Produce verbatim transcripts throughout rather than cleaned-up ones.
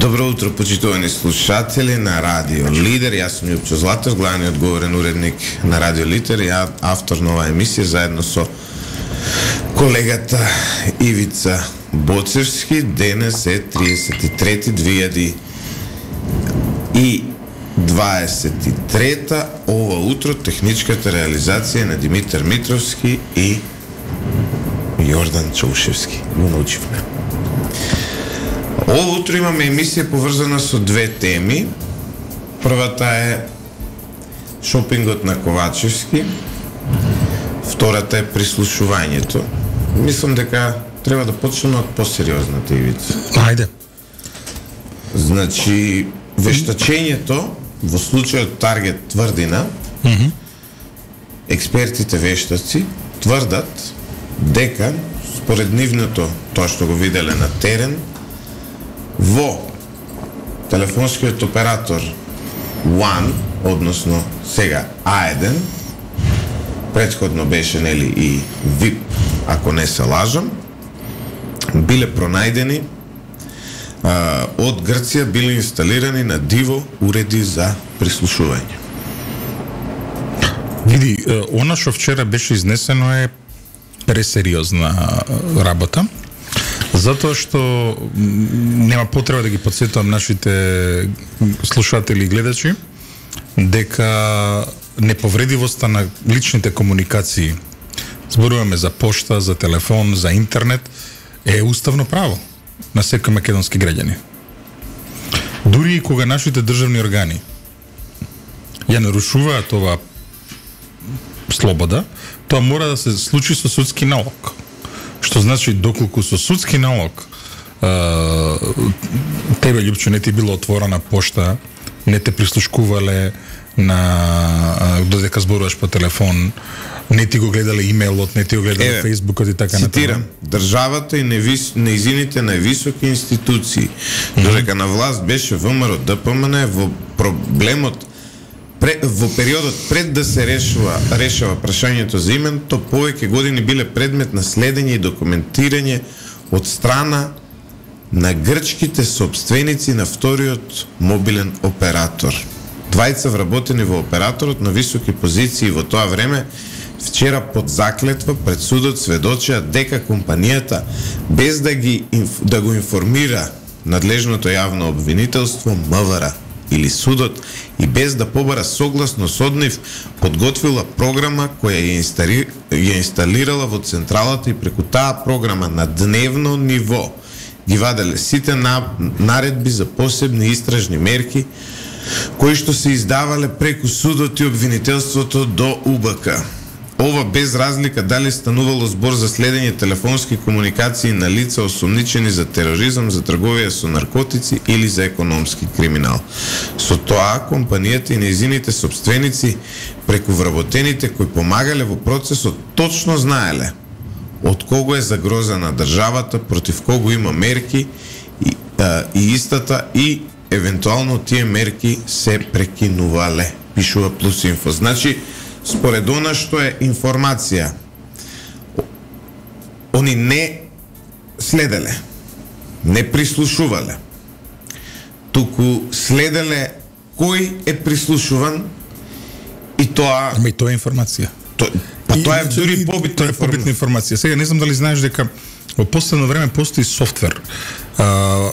Добро утро, почитувани слушатели на Радио Лидер. Јас сум Јупчо Златев, главниот говорен уредник на Радио Лидер и автор на оваа емисија, заедно со колегата Ивица Боцевски. Денес е тридесет и трети две илјади дваесет и трета. Ова утро техничката реализација на Димитар Митровски и Јордан Чаушевски. Го научивме. Ова утро имаме емисија поврзана со две теми. Првата е шопингот на Ковачевски. Втората е прислушувањето. Мислам дека треба да почнеме од посериозната ивица. Ајде. Значи, вештачењето во случајот Таргет Тврдина, mm -hmm. експертите вештаци тврдат дека според нивното, тоа што го виделе на терен, во телефонскиот оператор One, односно сега А еден, претходно беше нели и ВИП, ако не се лажам, биле пронајдени а, од Грција, биле инсталирани на диво уреди за прислушување. Види, она што вчера беше изнесено е пресериозна работа, затоа што нема потреба да ги подсетувам нашите слушатели и гледачи дека неповредивоста на личните комуникации, зборуваме за пошта, за телефон, за интернет, е уставно право на секој македонски граѓани. Дури и кога нашите државни органи ја нарушуваат ова слобода, тоа мора да се случи со судски налог. Што значи, доколку со судски налог а, тебе, Љупчо, не ти било отворена пошта, не те прислушкувале на додека зборуваш по телефон, не ти го гледале имејлот, не ти го гледале Еве, фејсбукот и така натаму. Цитирам, државата и невис, неизините највисоки институции, mm-hmm. додека на власт беше ВМРО Д П М Н, во проблемот во периодот пред да се решува решава прашањето за името, повеќе години биле предмет на следење и документирање од страна на грчките собственици на вториот мобилен оператор. Двајца вработени во операторот на високи позиции во тоа време вчера под заклетва пред судот сведочеа дека компанијата без да ги да го информира надлежното јавно обвинителство М В Р или судот и без да побара согласност од нив, подготвила програма која ја, инстали... ја инсталирала во централата и преку таа програма на дневно ниво ги ваделе сите на... наредби за посебни истражни мерки кои што се издавале преку судот и обвинителството до У Б К. Ова без разлика дали станувало збор за следење телефонски комуникации на лица осумничени за тероризам, за трговија со наркотици или за економски криминал. Со тоа, компанијата и нејзините собственици преку вработените кои помагале во процесот точно знаеле од кого е загрозена државата, против кого има мерки и, а, и истата и евентуално тие мерки се прекинувале, пишува Плюс Инфо. Значи, според она што е информација, они не следеле, не прислушувале, туку следеле кој е прислушуван и тоа... Ама и тоа е информација. То, па тоа е дури побитна, побитна информација. Сега не знам дали знаеш дека во последно време постои софтвер. А,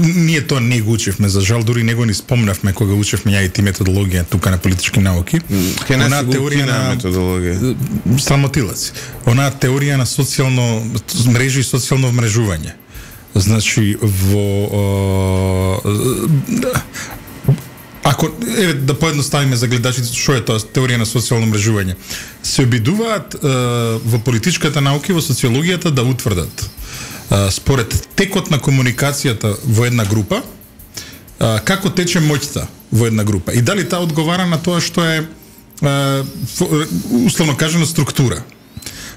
ние тоа не го учевме, за жал, дури не го ни спомнавме кога учевме ја и ти методологија тука на политички науки. Ке не се го на методологија. Срамотилаци. Онаа теорија на социјално мрежи и социјално вмрежување. Значи, во... А, ако, еве, да поедноставиме за гледачите, што е тоа теорија на социјално мрежување? Се обидуваат е, во политичката наука и во социологијата да утврдат е, според текот на комуникацијата во една група, е, како тече моќта во една група и дали таа одговара на тоа што е, е условно кажано, структура.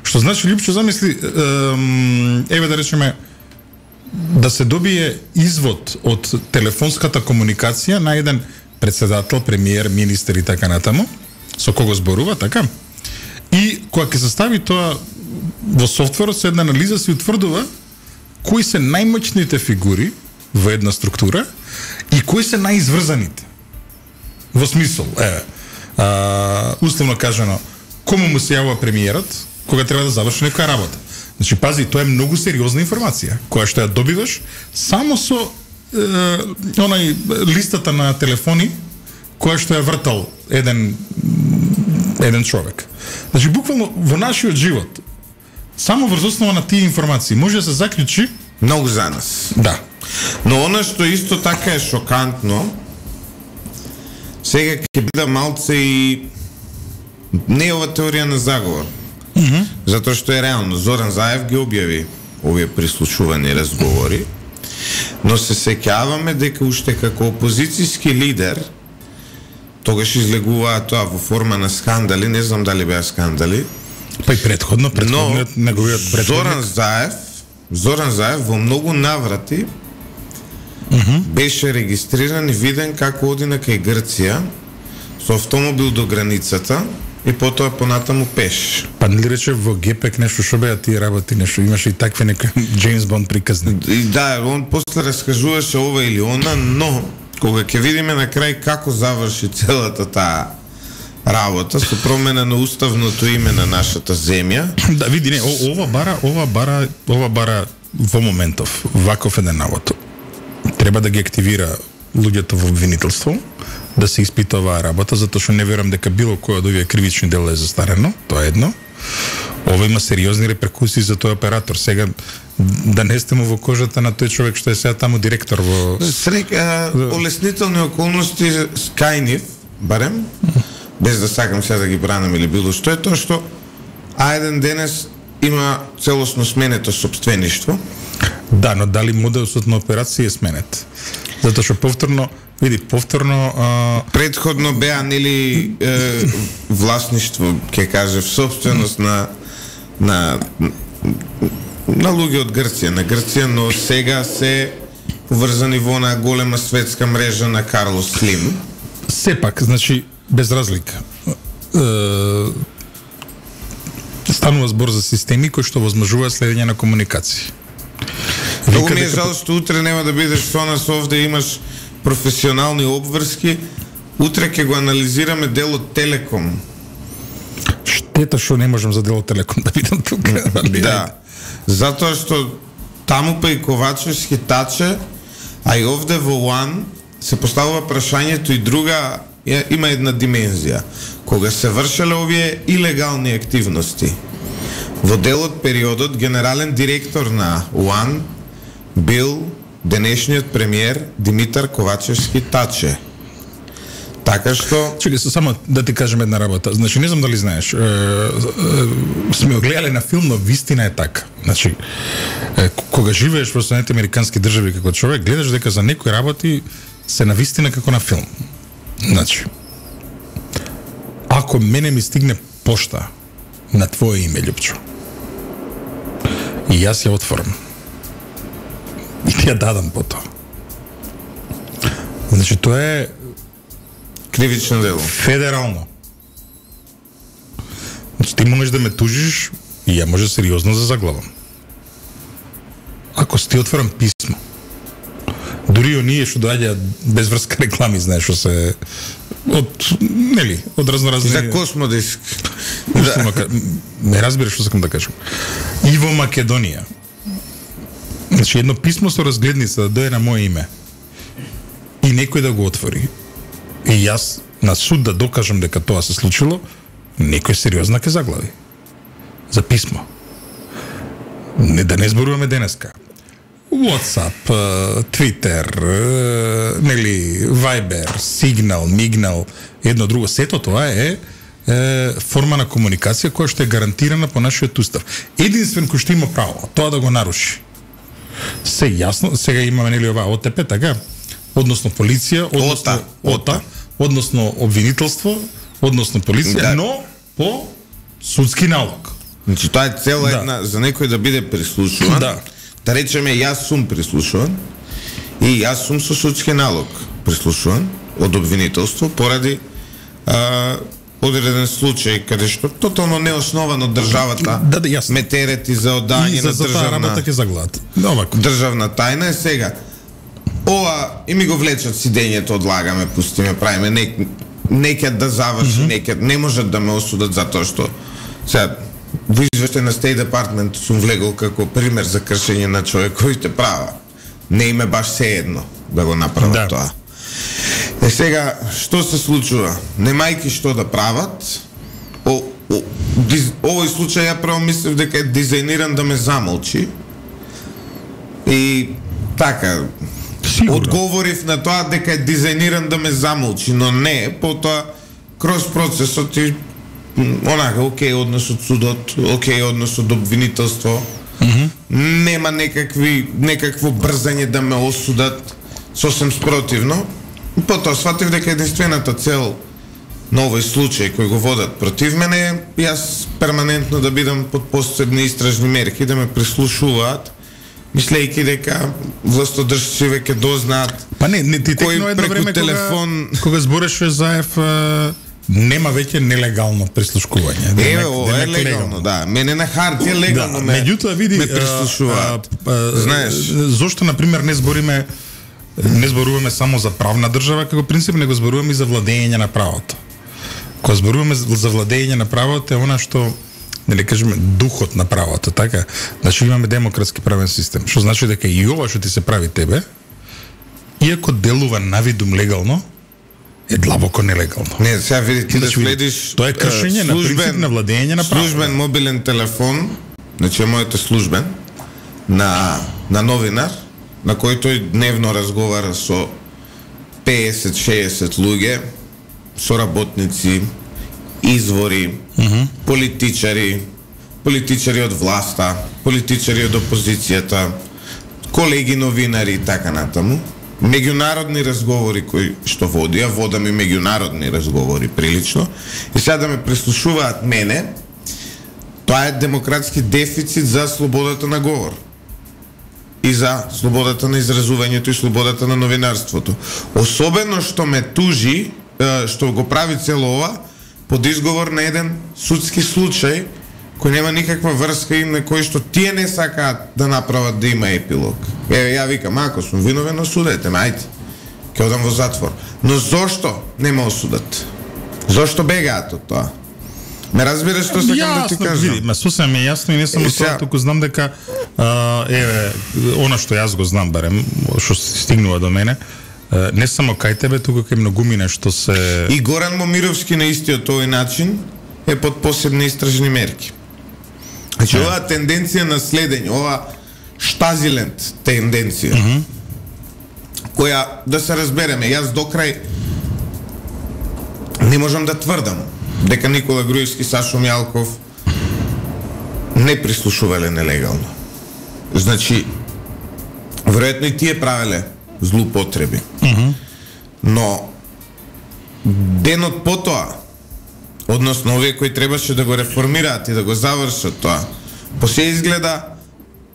Што значи, Љупчо, замисли, е, еве да речеме, да се добие извод од телефонската комуникација на еден председател, премиер, министер и така натаму, со кого зборува, така? И кога ќе се стави тоа во софтверот, се една анализа се утврдува кои се најмоćните фигури во една структура и кои се најизврзаните. Во смисол, е, а, условно кажано, кому му се јавува премиерот кога треба да заврши некоја работа. Значи, пази, тоа е многу сериозна информација, која што ја добиваш само со е, онај листата на телефони која што ја вртал еден еден човек. Значи, буквално во нашиот живот, само врз основа на тие информации може да се заклучи многу за нас. Да. Но она што исто така е шокантно, сега ќе биде малце и не ова теорија на заговор. Mm-hmm. Затоа што е реално Зоран Заев ги објави овие прислушувани разговори, но се сеќаваме дека уште како опозицијски лидер тогаш излегуваа тоа во форма на скандали, не знам дали беа скандали. Па и предходно, предходниот неговиот предходник. Зоран Заев, Зоран Заев во многу наврати mm-hmm. беше регистриран и виден како оди на кај Грција со автомобил до границата и потоа понатаму пеш. Па не ли рече во Гепек нешто што беа тие работи, нешто имаше и такви некои Джеймс Бонд приказни. И да, он после раскажуваше ова или она, но кога ќе видиме на крај како заврши целата таа работа со промена на уставното име на нашата земја. Да, види, не, ова бара, ова бара, ова бара во моментов, ваков еден навод. Треба да ги активира луѓето во обвинителство, да се испита оваа работа, затоа што не верам дека било кој од овие кривични дела е застарено, тоа е едно. Ова има сериозни реперкусии за тој оператор. Сега да не сте му во кожата на тој човек што е сега таму директор во Срека, олеснителни околности скајнив, барем, без да сакам сега да ги бранам или било што е тоа што а еден денес има целосно сменето собствеништво. Да, но дали моделот на операција е сменет? Затоа што повторно, види, повторно а... предходно беа нели е, власништво, ќе кажев, собственост на на на луѓе од Грција, на Грција, но сега се поврзани во она голема светска мрежа на Карлос Слим. Сепак, значи, без разлика. Е, станува збор за системи кои што возможуваат следење на комуникации. Многу ми е жал што утре нема да бидеш со нас овде, имаш професионални обврски. Утре ќе го анализираме делот Телеком. Штета што не можам за делот Телеком да видам тука. Да. Затоа што таму па и Ковачевски таче, а и овде во Уан се поставува прашањето и друга, има една димензија. Кога се вршеле овие илегални активности, во делот периодот генерален директор на Уан бил денешниот премиер Димитар Ковачевски Таче. Така што... Чекай, само да ти кажем една работа. Значи, не знам дали знаеш, е, е, сме огледали на филм, но вистина е така. Значи, е, кога живееш во Соединените американски држави како човек, гледаш дека за некои работи се на вистина како на филм. Значи, ако мене ми стигне пошта на твое име, Љупчо, и јас ја отворам, и ти ја дадам по тоа. Значи, тоа е кривично дело. Федерално. Значи, ти можеш да ме тужиш и ја може сериозно да заглавам. Ако ти отворам писмо, дури оние што доаѓаат без врска реклами, знаеш, што се од, нели, од разноразни... За Космодиск. Да. Не разбираш што сакам да кажам. И во Македонија. Значи, едно писмо со разгледница да дојде на моје име и некој да го отвори и јас на суд да докажам дека тоа се случило, некој сериозно ќе заглави. За писмо. Не, да не зборуваме денеска. WhatsApp, Twitter, нели, Viber, Signal, Mignal, едно друго, сето тоа е, е форма на комуникација која што е гарантирана по нашиот устав. Единствен кој што има право тоа да го наруши. Се јасно, сега имаме нели ова О Т П, така? Односно полиција, односно ОТА, односно обвинителство, односно полиција, да. Но по судски налог. Значи тоа е цела да. Една за некој да биде прислушуван. Да. Да речеме јас сум прислушуван и јас сум со судски налог прислушуван од обвинителство поради а, одреден случај каде што тотално неосновано државата да, да, ме терети за оддање на за државна работа ќе заглад. државна тајна е сега. ова и ми го влечат сидењето, одлагаме, пустиме, правиме, не, некад да заврши, mm-hmm. некад не можат да ме осудат затоа што сега во извештај на State Department сум влегол како пример за кршење на човековите права. Не име баш sejedno да го направат да. Тоа. Е сега, што се случува? Немајки што да прават, о, о, диз, овој случај ја право мислев дека е дизајниран да ме замолчи. И така, сигурно одговорив на тоа дека е дизајниран да ме замолчи, но не, потоа кроз процесот и онака, окей, однос од судот, окей, однос од обвинителство, mm-hmm. нема некакви, некакво брзање да ме осудат, сосем спротивно. Потоа сватив дека единствената цел на овој случај кој го водат против мене е јас перманентно да бидам под посебни истражни мерки, да ме прислушуваат, мислејќи дека властодржци веќе дознаат. Па не, не ти текно едно време телефон кога, кога збореше Заев, нема веќе нелегално прислушкување. Е, ова е легално, да. Мене на хартија легално да, ме, меѓутоа види, ме прислушуваат. А, а, Знаеш, зошто на пример не збориме не зборуваме само за правна држава како принцип, него зборуваме и за владење на правото. Кога зборуваме за владење на правото е она што нели кажеме духот на правото, така? Значи имаме демократски правен систем, што значи дека и ова што ти се прави тебе, иако делува навидум легално, е длабоко нелегално. Не, сега види ти значи, да следиш тоа е кршење на принцип на владење на правото. Службен мобилен телефон, значи мојот е службен на на новинар, на кој тој дневно разговара со песет шеесет луѓе, со работници, извори, mm-hmm. политичари, политичари од власта, политичари од опозицијата, колеги новинари и така натаму. Меѓународни разговори кои што води, а водам и меѓународни разговори прилично, и сега да ме прислушуваат мене, тоа е демократски дефицит за слободата на говор и за слободата на изразувањето и слободата на новинарството. Особено што ме тужи, што го прави цело ова, под изговор на еден судски случај кој нема никаква врска и на кој што тие не сакаат да направат да има епилог. Еве, ја викам, ако сум виновен, осудете ме, ајде, ќе одам во затвор. Но зошто не ме осудат? Зошто бегаат од тоа? Ме разбираш што сакам да ти кажам? Види, ме сосем е јасно и не само тоа, туку знам дека а, еве, она што јас го знам барем, што стигнува до мене, не само кај тебе, туку кај многумина што се... И Горан Момировски на истиот овој начин е под посебни истражни мерки. Значи, yeah. оваа тенденција на следење, ова штазиленд тенденција, mm-hmm. која, да се разбереме, јас до крај не можам да тврдам дека Никола Груевски, Сашо Мјалков не прислушувале нелегално. Значи, веројатно и тие правеле злоупотреби. Mm-hmm. Но денот потоа, односно овие кои требаше да го реформираат и да го завршат тоа, по се изгледа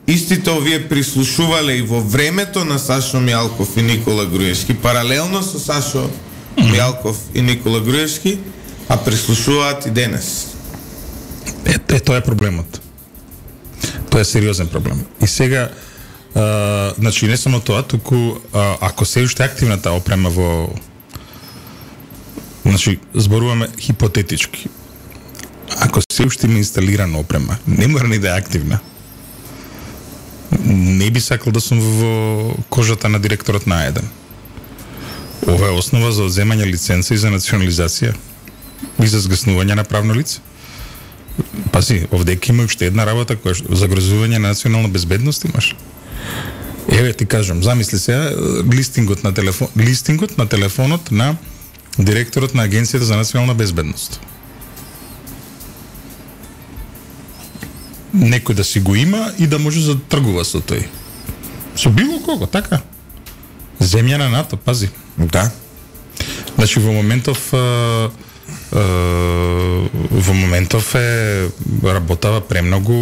истите овие прислушувале и во времето на Сашо Мјалков и Никола Груевски, паралелно со Сашо mm-hmm. Мјалков и Никола Груевски, а прислушуваат и денес. Е, е тоа е проблемот. Тоа е сериозен проблем. И сега Uh, значи не само тоа, туку uh, ако се уште активната опрема во, значи зборуваме хипотетички, ако се уште има инсталирана опрема, не мора ни да е активна, не би сакал да сум во кожата на директорот на А еден. Ова е основа за одземање лиценца и за национализација и за згаснување на правно лице. Пази, овдека има уште една работа која загрозување на национална безбедност имаш. Еве ти кажам, замисли сега листингот на телефон, листингот на телефонот на директорот на Агенцијата за национална безбедност. Некој да си го има и да може да тргува со тој. Со било кого, така? Земја на НАТО, пази. Да. Значи во моментов а, а, во моментов е работава премногу.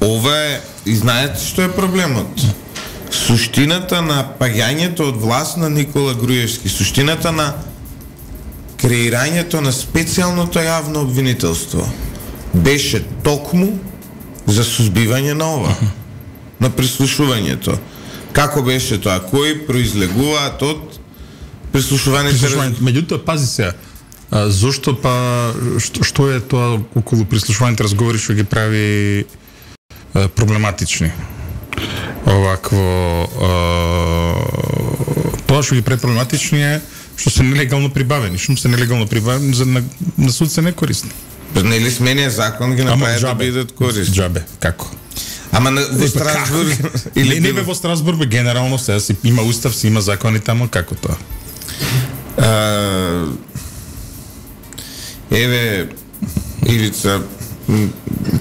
Ова е, и знаете што е проблемот? Суштината на паѓањето од власт на Никола Груевски, суштината на креирањето на специјалното јавно обвинителство беше токму за сузбивање на ова, на прислушувањето. Како беше тоа? Кои произлегуваат од прислушуваните? Прислушувањето. Меѓутоа, пази се, а, зошто па што, што е тоа околу прислушуваните разговори што ги прави а, проблематични? Овакво а, тоа што ги прави проблематични е што се нелегално прибавени, што се нелегално прибавени за на, на суд се не користни. Нели смениот закон ги направи да бидат корисни? Џабе, како? Ама на, во Страсбург или не, не бе во Страсбург, бе генерално сега си има устав, си има закони таму, како тоа? А, еве Ивица,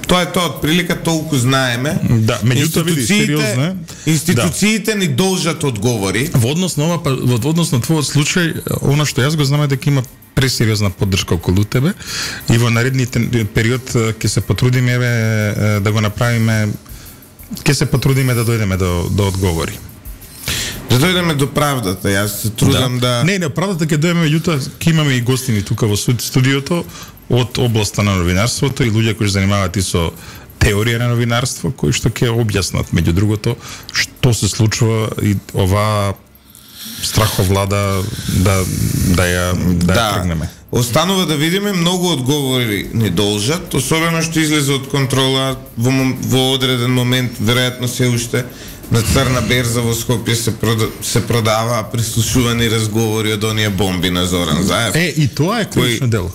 тоа е тоа, од прилика толку знаеме. Да, меѓутоа види, сериозно. Институциите да. Ни должат одговори. Во однос на ова, во однос на твојот случај, она што јас го знам е дека има пресериозна поддршка околу тебе и во наредните период ќе се потрудиме еве да го направиме, ќе се потрудиме да дојдеме до до одговори. Да дојдеме до правдата, јас се трудам да... да... Не, не, правдата ќе дојдеме, меѓутоа ќе имаме и гостини тука во студиото од областа на новинарството и луѓе кои се занимаваат и со теорија на новинарство, кои што ќе објаснат меѓу другото што се случува и оваа страховлада да да ја да, да ја тргнеме. Останува да видиме, многу одговори ни должат, особено што излезе од контрола во, во одреден момент, веројатно се уште на црна берза во Скопје се прода, се продава прислушувани разговори од оние бомби на Зоран Заев. Е, и тоа е кривично дело.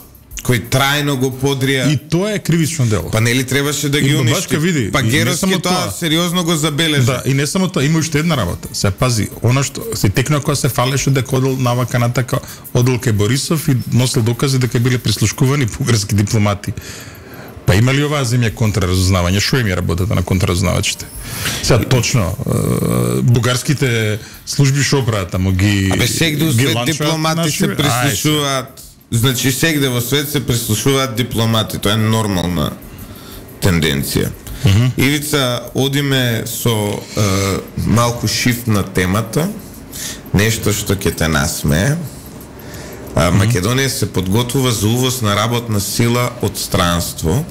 Кој трајно го подрија. И тоа е кривично дело. Па нели требаше да ги уништи? Види, па Геровски тоа, тоа сериозно го забележа. Да, и не само тоа, има уште една работа. Се пази, она што се текна кога се фалеше дека одел навака на така одел кај Борисов и носел докази дека биле прислушкувани бугарски дипломати. Па има ли оваа земја контраразузнавање? Што им ја работата на контраразузнавачите? Сега точно, бугарските служби што прават таму ги Абе сегде свет дипломати наши, се прислушуваат. Значи сегде во свет се прислушуваат дипломати, тоа е нормална тенденција. Uh -huh. Ивица, одиме со е, малку шифт на темата, нешто што ќе те насмее. А, Македонија се подготвува за увоз на работна сила од странство.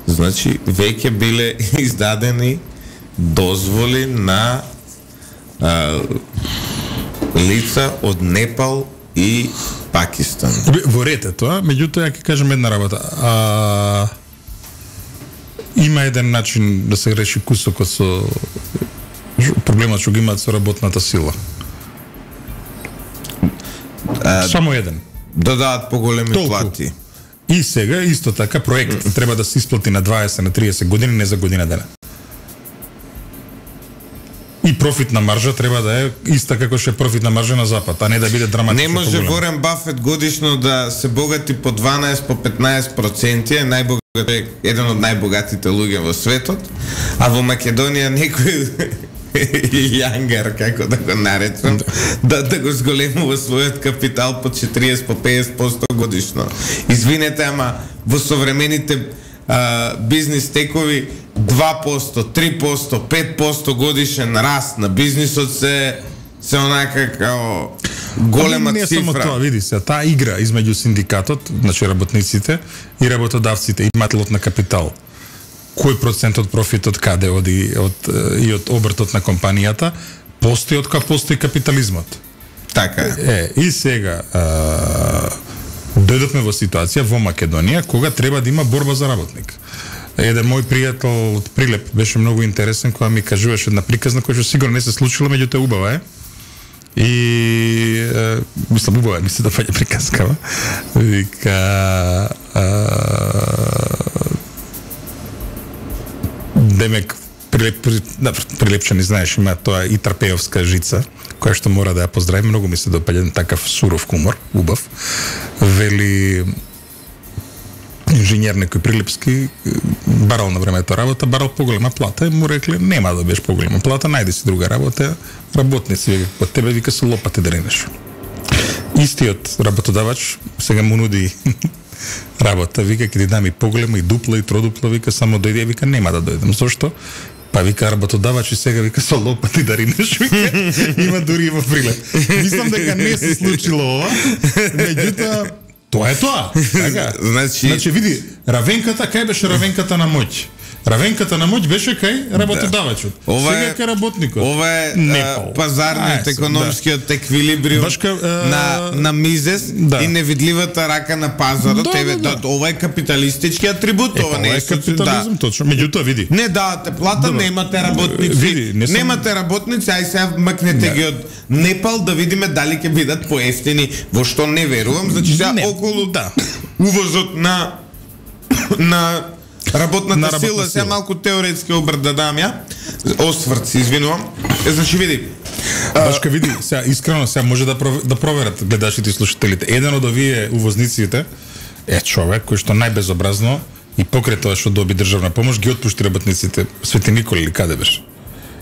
Значи, веќе биле издадени дозволи на а, лица од Непал и Пакистан. Во ред е тоа, меѓутоа ја ќе кажем една работа. А, има еден начин да се реши кусокот со проблемот што ги имаат со работната сила. А, Само еден. Да дадат поголеми Толку. плати. И сега исто така проект треба да се исплати на дваесет на триесет години, не за година дена. И профитна маржа треба да е иста како што е профитна маржа на запад, а не да биде драматично. Не може Ворен Бафет годишно да се богати по дванаесет по петнаесет проценти, е најбогат е еден од најбогатите луѓе во светот, а во Македонија некој јангар, како да го наречам, да, да го зголемува својот капитал по четириесет по петдесет проценти годишно. Извинете, ама во современите а, бизнис текови два проценти, три проценти, пет проценти годишен раст на бизнисот се се онака као голема не цифра. Не само тоа, види се, таа игра измеѓу синдикатот, значи работниците и работодавците и имателот на капитал. Кој процент од профитот каде оди од и од обртот на компанијата постои од кога постои капитализмот. Така е. Е, и сега а, дојдовме во ситуација во Македонија кога треба да има борба за работник. Еден мој пријател од Прилеп беше многу интересен кога ми кажуваше една приказна која што сигурно не се случила, меѓутоа убава е. И е, мислам убава, ми се допаѓа приказкава. Вика а, демек Прилеп, да, Прилепчани знаеш има тоа и Трпеовска жица која што мора да ја поздравим, многу ми се допаѓа такав суров хумор, убав. Вели инженер некој прилепски барал на времето работа, барал поголема плата и му рекле нема да бидеш поголема плата, најди си друга работа, работници од тебе вика со лопати да ринеш. Истиот работодавач сега му нуди работа, вика ќе ти дам и поголема и дупла и тродупла, вика само дојди, вика нема да дојдам. Зошто? Па вика работодавач и сега вика со лопати да ринеш, вика има дури и во Прилеп. Мислам дека не се случило ова, меѓутоа тоа е тоа. Така. Значи, значи види, равенката, кај беше равенката на моќ? Равенката на моќ беше кај работодавачот. Да. Сега е кај работникот. Ова е а, пазарниот, економскиот да. еквилибриум Башка, а... на на Мизес да. и невидливата рака на пазарот. Да, Еве, да, да. ова е капиталистички атрибут, е, ова не е капитализм, да. точно. Меѓутоа види. Не давате плата, Добре. немате работници. Види, не сам... Немате работници, ај сега макнете да. ги од Непал да видиме дали ќе бидат поевтини, во што не верувам, значи сега не. околу да. увозот на на работната на сила, сила, сега малку теоретски обрт да дам ја, осврт се извинувам. Е, значи види. Башка види, сега искрено сега може да провер, да проверат гледачите и слушателите. Еден од овие увозниците е човек кој што најбезобразно и покрај тоа што доби државна помош ги отпушти работниците. Свети Никола или каде беше?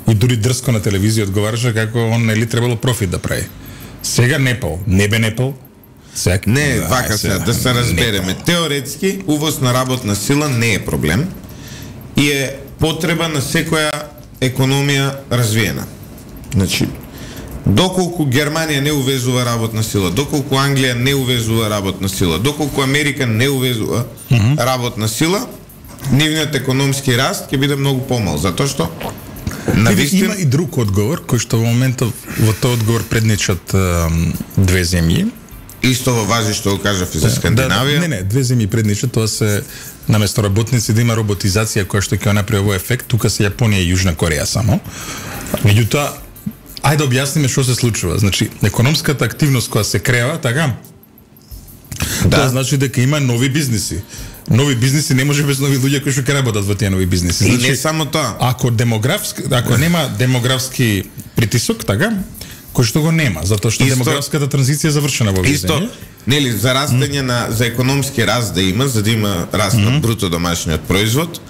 И дури дрско на телевизија одговараше како он нели требало профит да прави. Сега Непал, не бе Непал. Сега, не, да, вака сега, да се разбереме. Непал. Теоретски, увоз на работна сила не е проблем и е потреба на секоја економија развиена. Значи, доколку Германија не увезува работна сила, доколку Англија не увезува работна сила, доколку Америка не увезува mm -hmm. работна сила, нивниот економски раст ќе биде многу помал, затоа што навистина... Има и друг одговор, кој што во моментов во тој одговор предничат две земји. Исто во важи што го кажав и за Скандинавија. Да, не, не, две земји предничат, тоа се наместо работници да има роботизација која што ќе направи овој ефект, тука се Јапонија и Јужна Кореја само. Меѓутоа, ајде да објасниме што се случува. Значи, економската активност која се крева, така? Да. Тоа значи дека има нови бизниси. Нови бизниси не може без нови луѓе кои што ќе работат во тие нови бизниси. Значи, и не само тоа. Ако демографски, ако нема демографски притисок, така? Кој што го нема, затоа што исто, демографската транзиција е завршена во овие земји. Нели, за растење mm. на за економски раст да има, за да има раст mm. на бруто домашниот производ,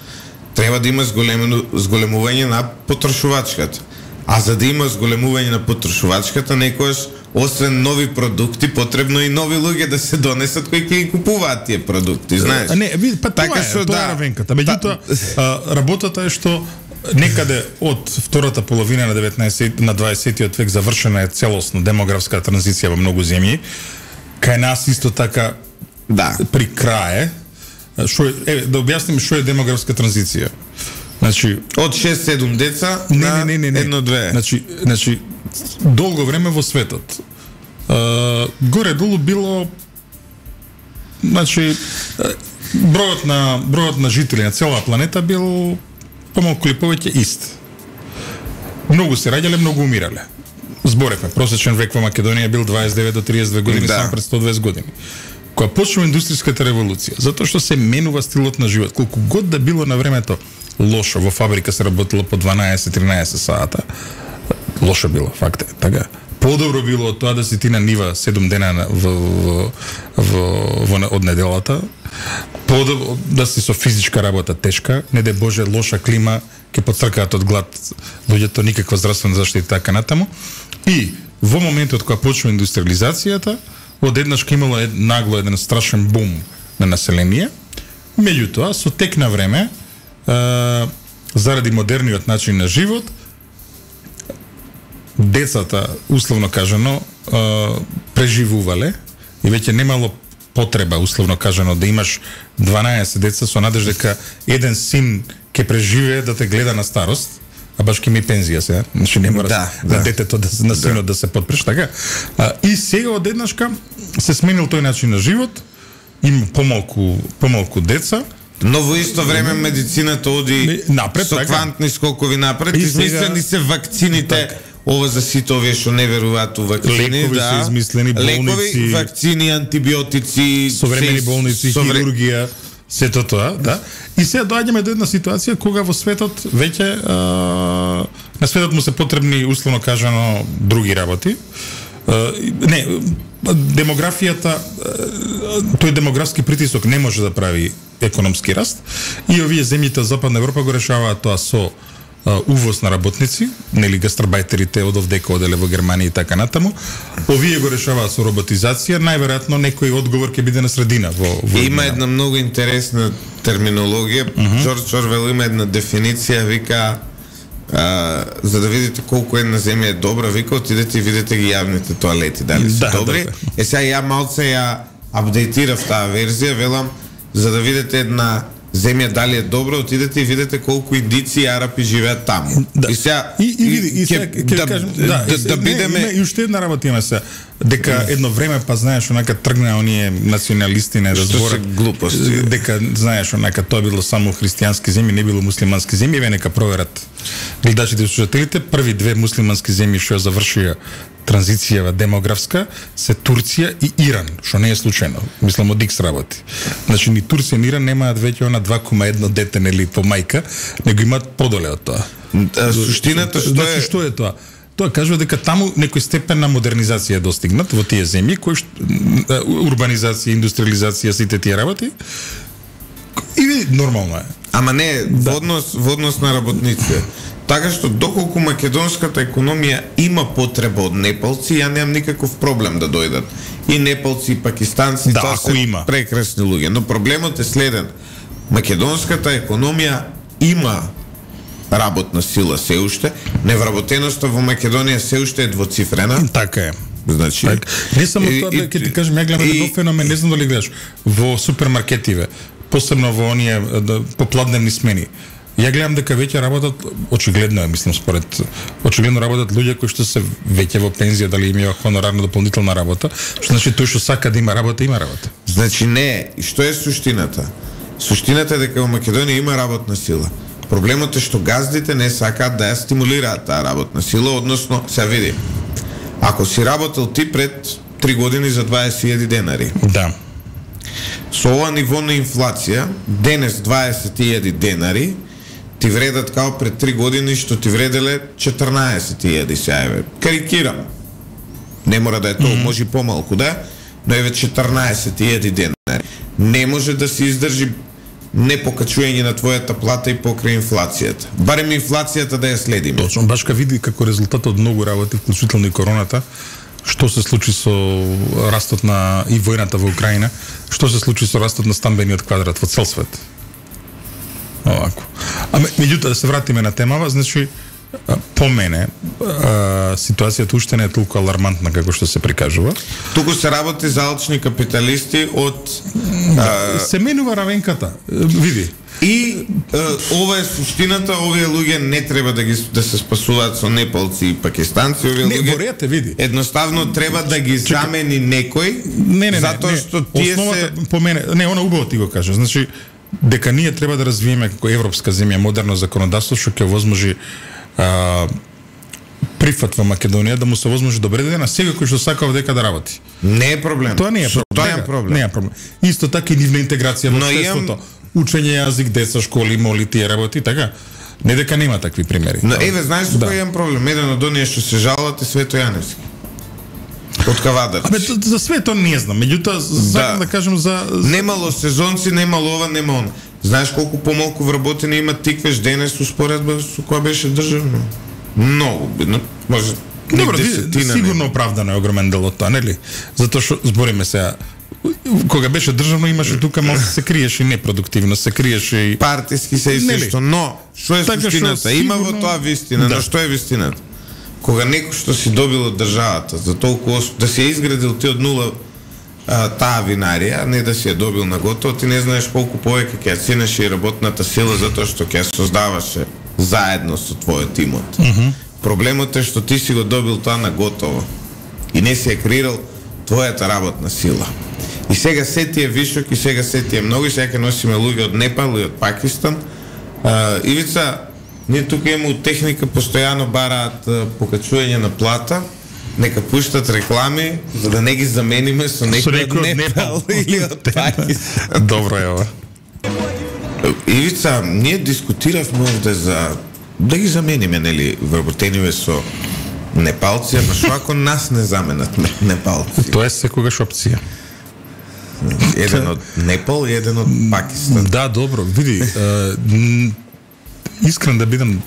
треба да има зголемување на потрошувачката. А за да има зголемување на потрошувачката, некојаш освен нови продукти, потребно и нови луѓе да се донесат кои ќе ги купуваат тие продукти, знаеш? А не, ви, па така тоа е, што, тоа да, е равенката. Меѓутоа, та... работата е што некаде од втората половина на деветнаесетти на дваесеттиот век завршена е целосно демографска транзиција во многу земји. Кај нас исто така да. при крај што е, да објасним што е демографска транзиција. Значи од шест-седум деца не, на не, не, не. едно-две. Значи, значи долго време во светот горе-долу било значи бројот на бројот на жители на целата планета бил помалку или повеќе ист. Многу се раѓале, многу умирале. Зборевме, просечен век во Македонија бил дваесет и девет до триесет и две години, да. само пред сто и дваесет години. Кога почнува индустријската револуција, затоа што се менува стилот на живот. Колку год да било на времето лошо, во фабрика се работело по дванаесет-тринаесет сата, лошо било, факт е, така. Подобро било од тоа да си ти на нива седум дена во, во, во, во, од неделата, подобро да си со физичка работа тешка, не де Боже лоша клима, ќе поцркаат од глад луѓето, никаква здравствена заштита така натаму. И во моментот кога почнува индустриализацијата, одеднаш ќе имало ед, нагло еден страшен бум на население. Меѓутоа, со тек на време, е, заради модерниот начин на живот, децата, условно кажано, е, преживувале и веќе немало потреба, условно кажано, да имаш дванаесет деца со надеж дека еден син ќе преживее да те гледа на старост, а баш ќе ми пензија сега, значи не мора да, да, да детето да на синот да, да се подпреш, така. А, и сега одеднашка се сменил тој начин на живот, има помалку помалку деца. Но во исто време медицината оди напред, со така, квантни скокови напред, измислени се вакцините. Така. Ова за сите овие што не веруваат у вакцини, лекови да. се измислени, болници, лекови, вакцини, антибиотици, современи болници, совре... хирургија, сето тоа, да. И сега доаѓаме до една ситуација кога во светот веќе а, на светот му се потребни, условно кажано, други работи. А, не, демографијата, тој демографски притисок не може да прави економски раст и овие земјите од Западна Европа го решаваат тоа со увоз на работници, нели гастарбајтерите од овдека оделе во Германија и така натаму. Овие го решаваат со роботизација, најверојатно некој одговор ќе биде на средина во, во има една многу интересна терминологија. Џорџ uh-huh. Орвел има една дефиниција, вика а, за да видите колку една земја е добра, вика отидете и видите ги јавните тоалети, дали се да, добри. Да, да. Е сега ја малце ја апдейтирав таа верзија, велам за да видите една земја дали е добро, отидете и видите колку индици и арапи живеат таму. Да. И сега и, и види, и сега ќе да, кажем, да, да, да, да бидеме и уште една работа има се, дека едно време па знаеш онака тргна оние националисти не да зборат глупости, дека знаеш онака тоа било само христијански земји, не било муслимански земји, ве нека проверат гледачите и слушателите, први две муслимански земји што завршија транзицијава демографска се Турција и Иран, што не е случајно. Мислам од икс работи. Значи ни Турција и Иран немаат веќе она два кома едно дете нели по мајка, него имаат подоле од тоа. А, суштината што значи, е што е тоа? Тоа кажува дека таму некој степен на модернизација е достигнат во тие земји, кои што, урбанизација, индустриализација, сите тие работи. И нормално е. Ама не, да. во однос, во однос на работниците. Така што доколку македонската економија има потреба од непалци, ја немам никаков проблем да дојдат. И непалци, и пакистанци, да, тоа се има. прекрасни луѓе. Но проблемот е следен. Македонската економија има работна сила се уште, невработеноста во Македонија се уште е двоцифрена. Така е. Значи, так. Не само тоа, бе, ќе ти кажам, ја гледам едно феномен, не знам дали гледаш, во супермаркетиве, посебно во оние попладневни смени. Ја гледам дека веќе работат, очигледно е, мислам, според, очигледно работат луѓе кои што се веќе во пензија, дали имаат хонорарна дополнителна работа, што значи тој што сака да има работа, има работа. Значи не, и што е суштината? Суштината е дека во Македонија има работна сила. Проблемот е што газдите не сакаат да ја стимулираат таа работна сила, односно, се види. Ако си работел ти пред три години за дваесет илјади денари. Да. Со ова ниво на инфлација, денес дваесет илјади денари ти вредат као пред три години што ти вределе четрнаесет илјади сеајве. Карикирам. Не мора да е тоа, mm -hmm. може и помалку да е, но еве четрнаесет илјади денари. Не може да се издржи непокачување на твојата плата и покрај инфлацијата. Барем инфлацијата да ја следиме. Точно, баш ка види како резултат од многу работи, вклучително и короната, што се случи со растот на и војната во Украина, што се случи со растот на стамбениот квадрат во цел свет. Овако. А меѓутоа да се вратиме на темава, значи по мене а, ситуацијата уште не е толку алармантна како што се прикажува. Туку се работи за алчни капиталисти од а... се менува равенката. Види. И а, ова е суштината, овие луѓе не треба да ги да се спасуваат со непалци и пакистанци, овие не, луѓе. Борете, види. Едноставно треба да ги Чека. замени некој. Не, не, затоа не, што тие основата, се по мене, не, она убаво ти го кажа. Значи дека ние треба да развиеме како европска земја модерно законодавство што ќе возможи а, прифат во Македонија да му се возможи добре да на сега кој што сака дека да работи. Не е проблем. Тоа не е проблем. Тоа е проблем. Не е проблем. Исто така и нивна интеграција во општеството. Имам... Учење јазик, деца, школи, моли тие работи, така. Не дека нема такви примери. Но еве, знаеш што да. Кој имам проблем? Еден од оние што се жалат е Свето Јаневски. Од Кавадар. Абе, за свето не знам, меѓутоа сакам да. да кажам за... Немало сезонци, немало ова, нема он. Знаеш колку помалку вработени има тиквеш денес успоредба со која беше државно? Многу, бидно, може... Добро, сигурно оправдано е огромен дел од тоа, нели? Затоа што, збориме сега, кога беше државно имаше тука малку се криеше непродуктивно, се криеше и... Партиски се и се што, но, што е така суштината? Сигурно... Има во тоа вистина, да. Но што е вистината? Кога некој што си добил од државата за толку да се изградил ти од нула а, таа винарија, не да си ја добил на готово, ти не знаеш колку повеќе ќе ја ценеше и работната сила затоа што ќе ја создаваше заедно со твојот имот. Mm -hmm. Проблемот е што ти си го добил тоа на готово и не си ја креирал твојата работна сила. И сега се ти е вишок и сега се ти е многу, и сега ќе носиме луѓе од Непал и од Пакистан. А, Ивица, ние тука имаме техника, постојано бараат покачување на плата, нека пуштат реклами, за да не ги замениме со некој од Непал или од Пакистан. Добро е ова. Ивица, ние дискутиравме овде за да ги замениме, нели, вработениве со непалци, ама што ако нас не заменат непалци? Тоа е секогаш опција. Еден од Непал и еден од Пакистан. Да, добро, види, е, искрен да бидам,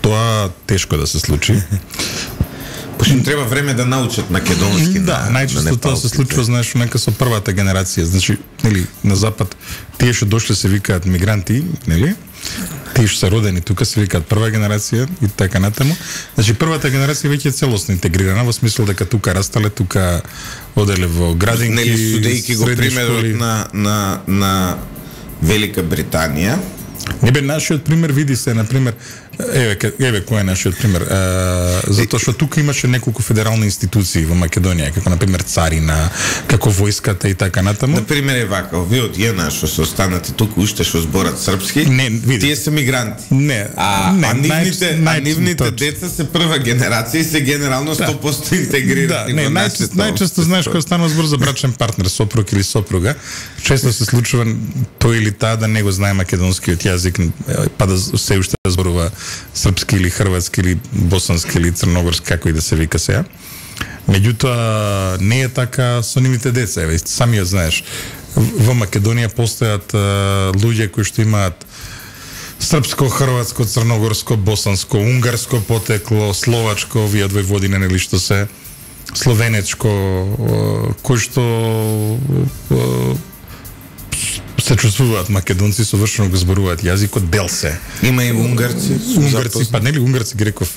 тоа тешко да се случи. Пошто им треба време да научат македонски. Да, на, најчесто тоа се случува, знаеш, нека со првата генерација, значи, нели, на запад тие што дошле се викаат мигранти, нели? Тие што се родени тука се викаат прва генерација и така натаму. Значи првата генерација веќе е целосно интегрирана во смисла дека тука растале, тука оделе во градинки, нели, судејки го примерот на на на Велика Британија. Не бе, нашиот пример, види се, на пример, еве, еве кој е нашиот пример, е, затоа што тука имаше неколку федерални институции во Македонија, како на пример царина, како војската и така натаму. На пример е вака, овие од Јена што се останати тука уште што зборат српски, не, види, тие се мигранти. Не, а, не, а нивните, нај, а нивните деца се прва генерација и се генерално сто проценто да. интегрирани. Да, не, најчесто, најчесто знаеш кога станува збор за брачен партнер, сопруг или сопруга, често се случува тој или таа да не го знае македонскиот јазик, па да се уште зборува српски или хрватски или босански или црногорски, како и да се вика сега. Меѓутоа не е така со нивните деца, еве самиот знаеш. Во Македонија постојат луѓе кои што имаат српско, хрватско, црногорско, босанско, унгарско потекло, словачко, овие од Војводина, нели што се, словенечко, кои што се чувствуваат македонци, совршено го зборуваат јазикот, дел се. Има и унгарци. Унгарци, па нели унгарци ги реков,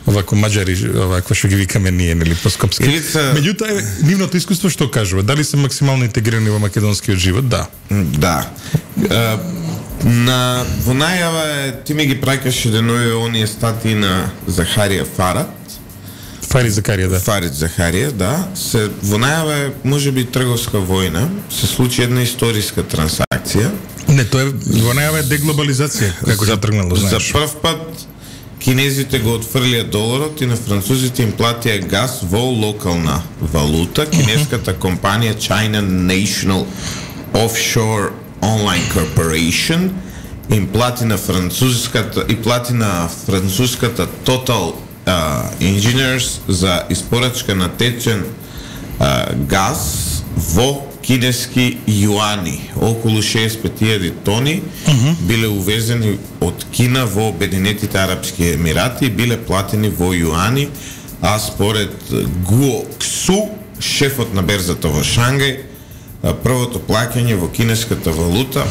овако маđари, овако што ги викаме ние, нели по-скопски. Илица... Меѓутоа, нивното искуство што кажува? Дали се максимално интегрирани во македонскиот живот? Да. Да. Uh, на во најава е, ти ми ги праќаше денови оние статии на Захарија Фарат. Фарид Захарија, да. Фарид Захарија, да. Се во најава е можеби трговска војна, се случи една историска трансакција. Не, тоа е во најава е деглобализација, како се тргнало, знаеш. За прв пат кинезите го отфрлија доларот и на французите им платија газ во локална валута. Кинеската компанија China National Offshore Online Corporation им плати на француската и плати на француската Total Uh, Engineers за испорачка на течен uh, газ во кинески јуани. Околу шеесет и пет илјади тони uh-huh. биле увезени од Кина во Обединетите арапски емирати и биле платени во јуани, а според Гуо Ксу, шефот на берзата во Шангај, првото плаќање во кинеската валута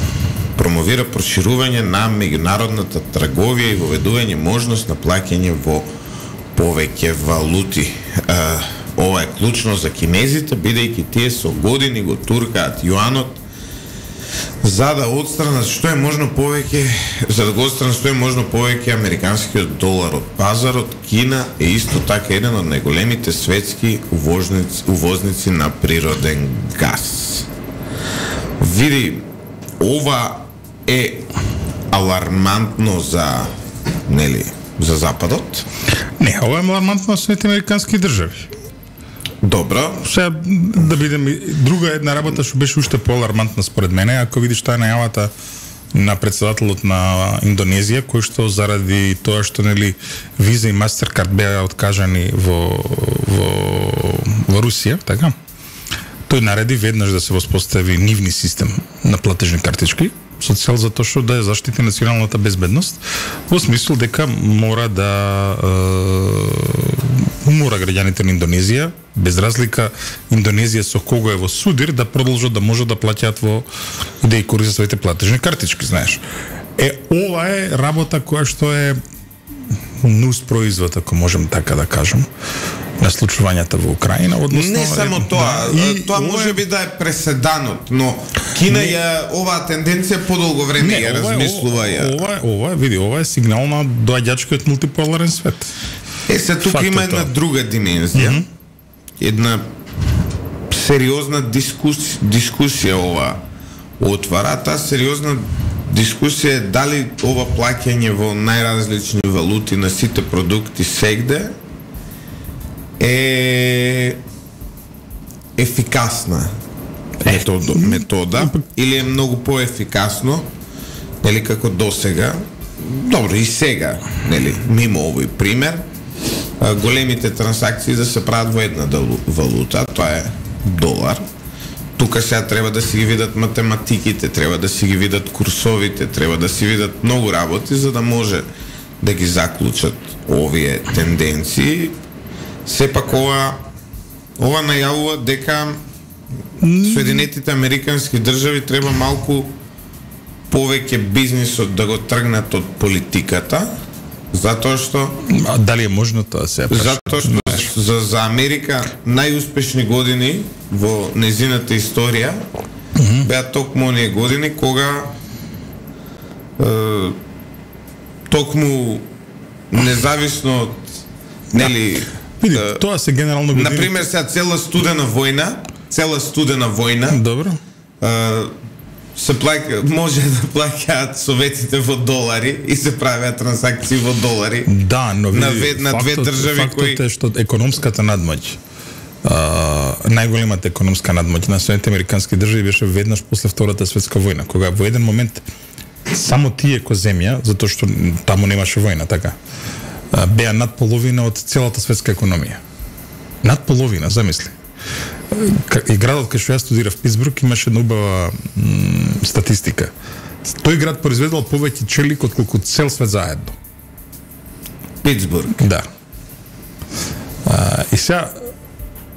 промовира проширување на меѓународната трговија и воведување можност на плаќање во повеќе валути. Uh, ова е клучно за кинезите, бидејќи тие со години го туркаат јуанот за да отстранат што е можно повеќе, за да го отстранат што е можно повеќе американскиот долар од пазарот. Кина е исто така еден од најголемите светски увозници, увозници на природен газ. Види, ова е алармантно за, нели, за Западот? Не, ова е алармантно за сите американски држави. Добро. Сега да бидем друга една работа што беше уште поалармантна според мене, ако видиш таа најавата на претседателот на Индонезија, кој што заради тоа што нели Виза и Мастеркард беа откажани во во во Русија, така? Тој нареди веднаш да се воспостави нивни систем на платежни картички со цел за тоа што да ја заштити националната безбедност, во смисол дека мора да е, мора граѓаните на Индонезија, без разлика Индонезија со кого е во судир, да продолжат да можат да плаќаат во и да ја користат своите платежни картички, знаеш. Е, ова е работа која што е нус производ, ако можем така да кажем, на случувањата во Украина, односно не само е, тоа, да, и тоа може би да е преседанот, но Кина не, ја оваа тенденција подолго време ја размислува ја. Ова, ова, види, ова е сигнал на доаѓачкиот мултиполарен свет. Е, се тука Факт има една тоа. друга димензија. Mm-hmm. Една сериозна дискус, дискусија ова отвара. Таа сериозна дискусија е дали ова плаќање во најразлични валути на сите продукти сегде е ефикасна метода, метода или е многу поефикасно, нели, како досега. Добро, и сега, нели, мимо овој пример, големите трансакции да се прават во една валута, тоа е долар. Тука сега треба да си ги видат математиките, треба да си ги видат курсовите, треба да си видат многу работи за да може да ги заклучат овие тенденции. Сепак ова ова најавува дека Соединетите американски држави треба малку повеќе бизнисот да го тргнат од политиката, затоа што а, дали е можно тоа се? Затоа што за, за Америка најуспешни години во незината историја mm-hmm. беа токму оние години кога токму независно од нели Види, тоа се генерално години. Например, сега цела студена војна, цела студена војна. Добро. Uh, се плаќа, може да плаќаат советите во долари и се правеа трансакции во долари. Да, но види, на, ве, на две фактот, држави фактот кои е што економската надмоќ, uh, најголемата економска надмоќ на Соединетите американски држави беше веднаш после Втората светска војна, кога во еден момент само тие ко земја, затоа што таму немаше војна, така, uh, беа над половина од целата светска економија. Над половина, замисли. И градот кај што ја студирав, Питсбург, имаше една убава м, статистика. Тој град произведувал повеќе челик од колку цел свет заедно. Питсбург. Да. А, и сега,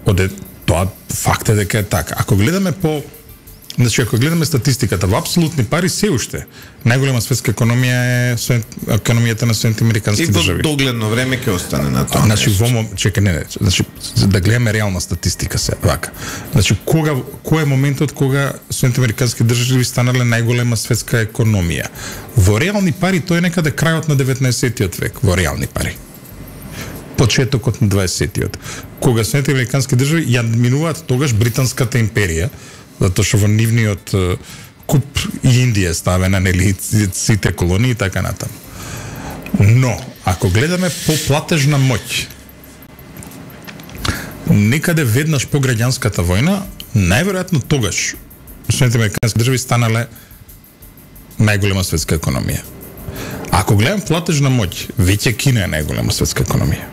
оде, тоа факт е дека е така. Ако гледаме по Значи, ако гледаме статистиката, во апсолутни пари се уште најголема светска економија е економијата на Соединетите американски држави. И во догледно време ќе остане на тоа. Значи, во мом... чекај, не, не, значи, да гледаме реална статистика се, вака. Значи, кога, кој е моментот кога Соединетите американски држави станале најголема светска економија? Во реални пари тоа е некаде крајот на деветнаесеттиот век, во реални пари. Почетокот на дваесеттиот. Кога Соединетите американски држави ја минуваат тогаш британската империја, затоа што во нивниот куп и Индија ставена, нели, сите колонии и така натаму. Но, ако гледаме по платежна моќ, некаде веднаш по граѓанската војна, најверојатно тогаш Соединетите американски држави станале најголема светска економија. Ако гледам платежна моќ, веќе Кина е најголема светска економија.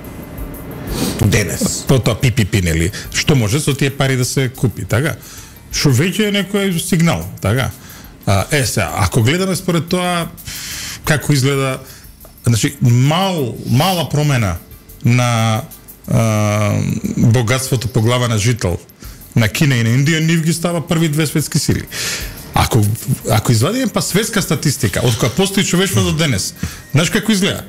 Денес. По тоа пи пи пи, нели, што може со тие пари да се купи, така? Што веќе е некој сигнал, така? А, е, сега, ако гледаме според тоа како изгледа, значи, мал, мала промена на а, богатството по глава на жител на Кина и на Индија, нив ги става први две светски сили. Ако, ако извадиме па светска статистика, од која постои човештво до денес, знаеш како изгледа?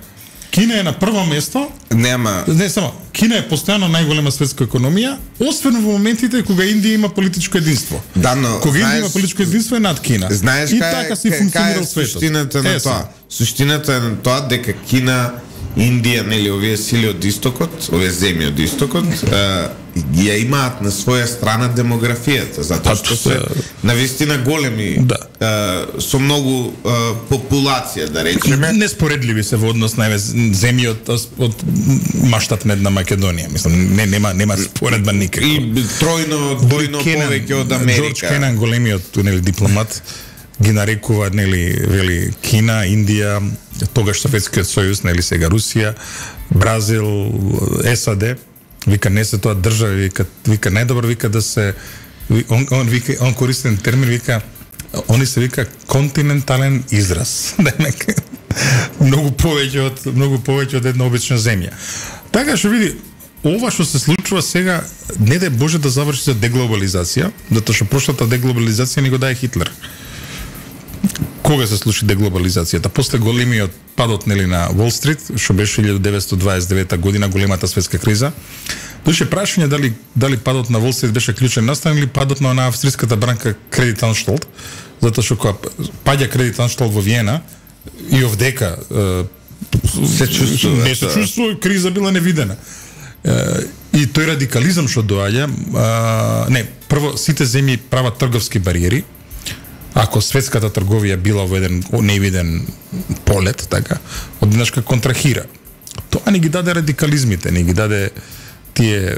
Кина е на прво место. Нема. Не само. Кина е постојано најголема светска економија, освен во моментите кога Индија има политичко единство. Да, но кога знаеш, Индија има политичко единство е над Кина. Знаеш и кај, така си кај, функционирал кај светот. Суштината на е, тоа. Суштината е на тоа дека Кина, Индија, нели, овие сили од истокот, овие земји од истокот, ја имаат на своја страна демографијата, затоа што се навистина големи, да. а, со многу а, популација, да речеме. Неспоредливи се во однос на земји од, од маштат на една Македонија. Мислам, не, нема, нема споредба никако. И тројно, двојно повеќе од Америка. Джордж Кенан, големиот, нели, дипломат, ги нарекува, нели, вели, Кина, Индија, тогаш Советскиот сојуз, нели, сега Русија, Бразил, САД, вика не се тоа држави, вика, вика најдобро, вика да се, он, он вика, он користен термин, вика, они се вика континентален израз. Многу повеќе од многу повеќе од една обична земја. Така што види, ова што се случува сега, не дај Боже да заврши за деглобализација, затоа што прошлата деглобализација ни го даде Хитлер. Кога се случи деглобализацијата? После големиот падот, нели, на Wall Street, што беше илјада деветстотини дваесет и девета година, големата светска криза. Доше прашање дали дали падот на Wall Street беше клучен настан или падот на она австриската банка Credit Anstalt, затоа што кога паѓа Credit Anstalt во Виена и овдека се чувствува, не се чувствува, криза била невидена. И тој радикализам што доаѓа, не, прво сите земји прават трговски бариери. Ако светската трговија била во еден невиден полет, така, одеднашка контрахира. Тоа не ги даде радикализмите, не ги даде тие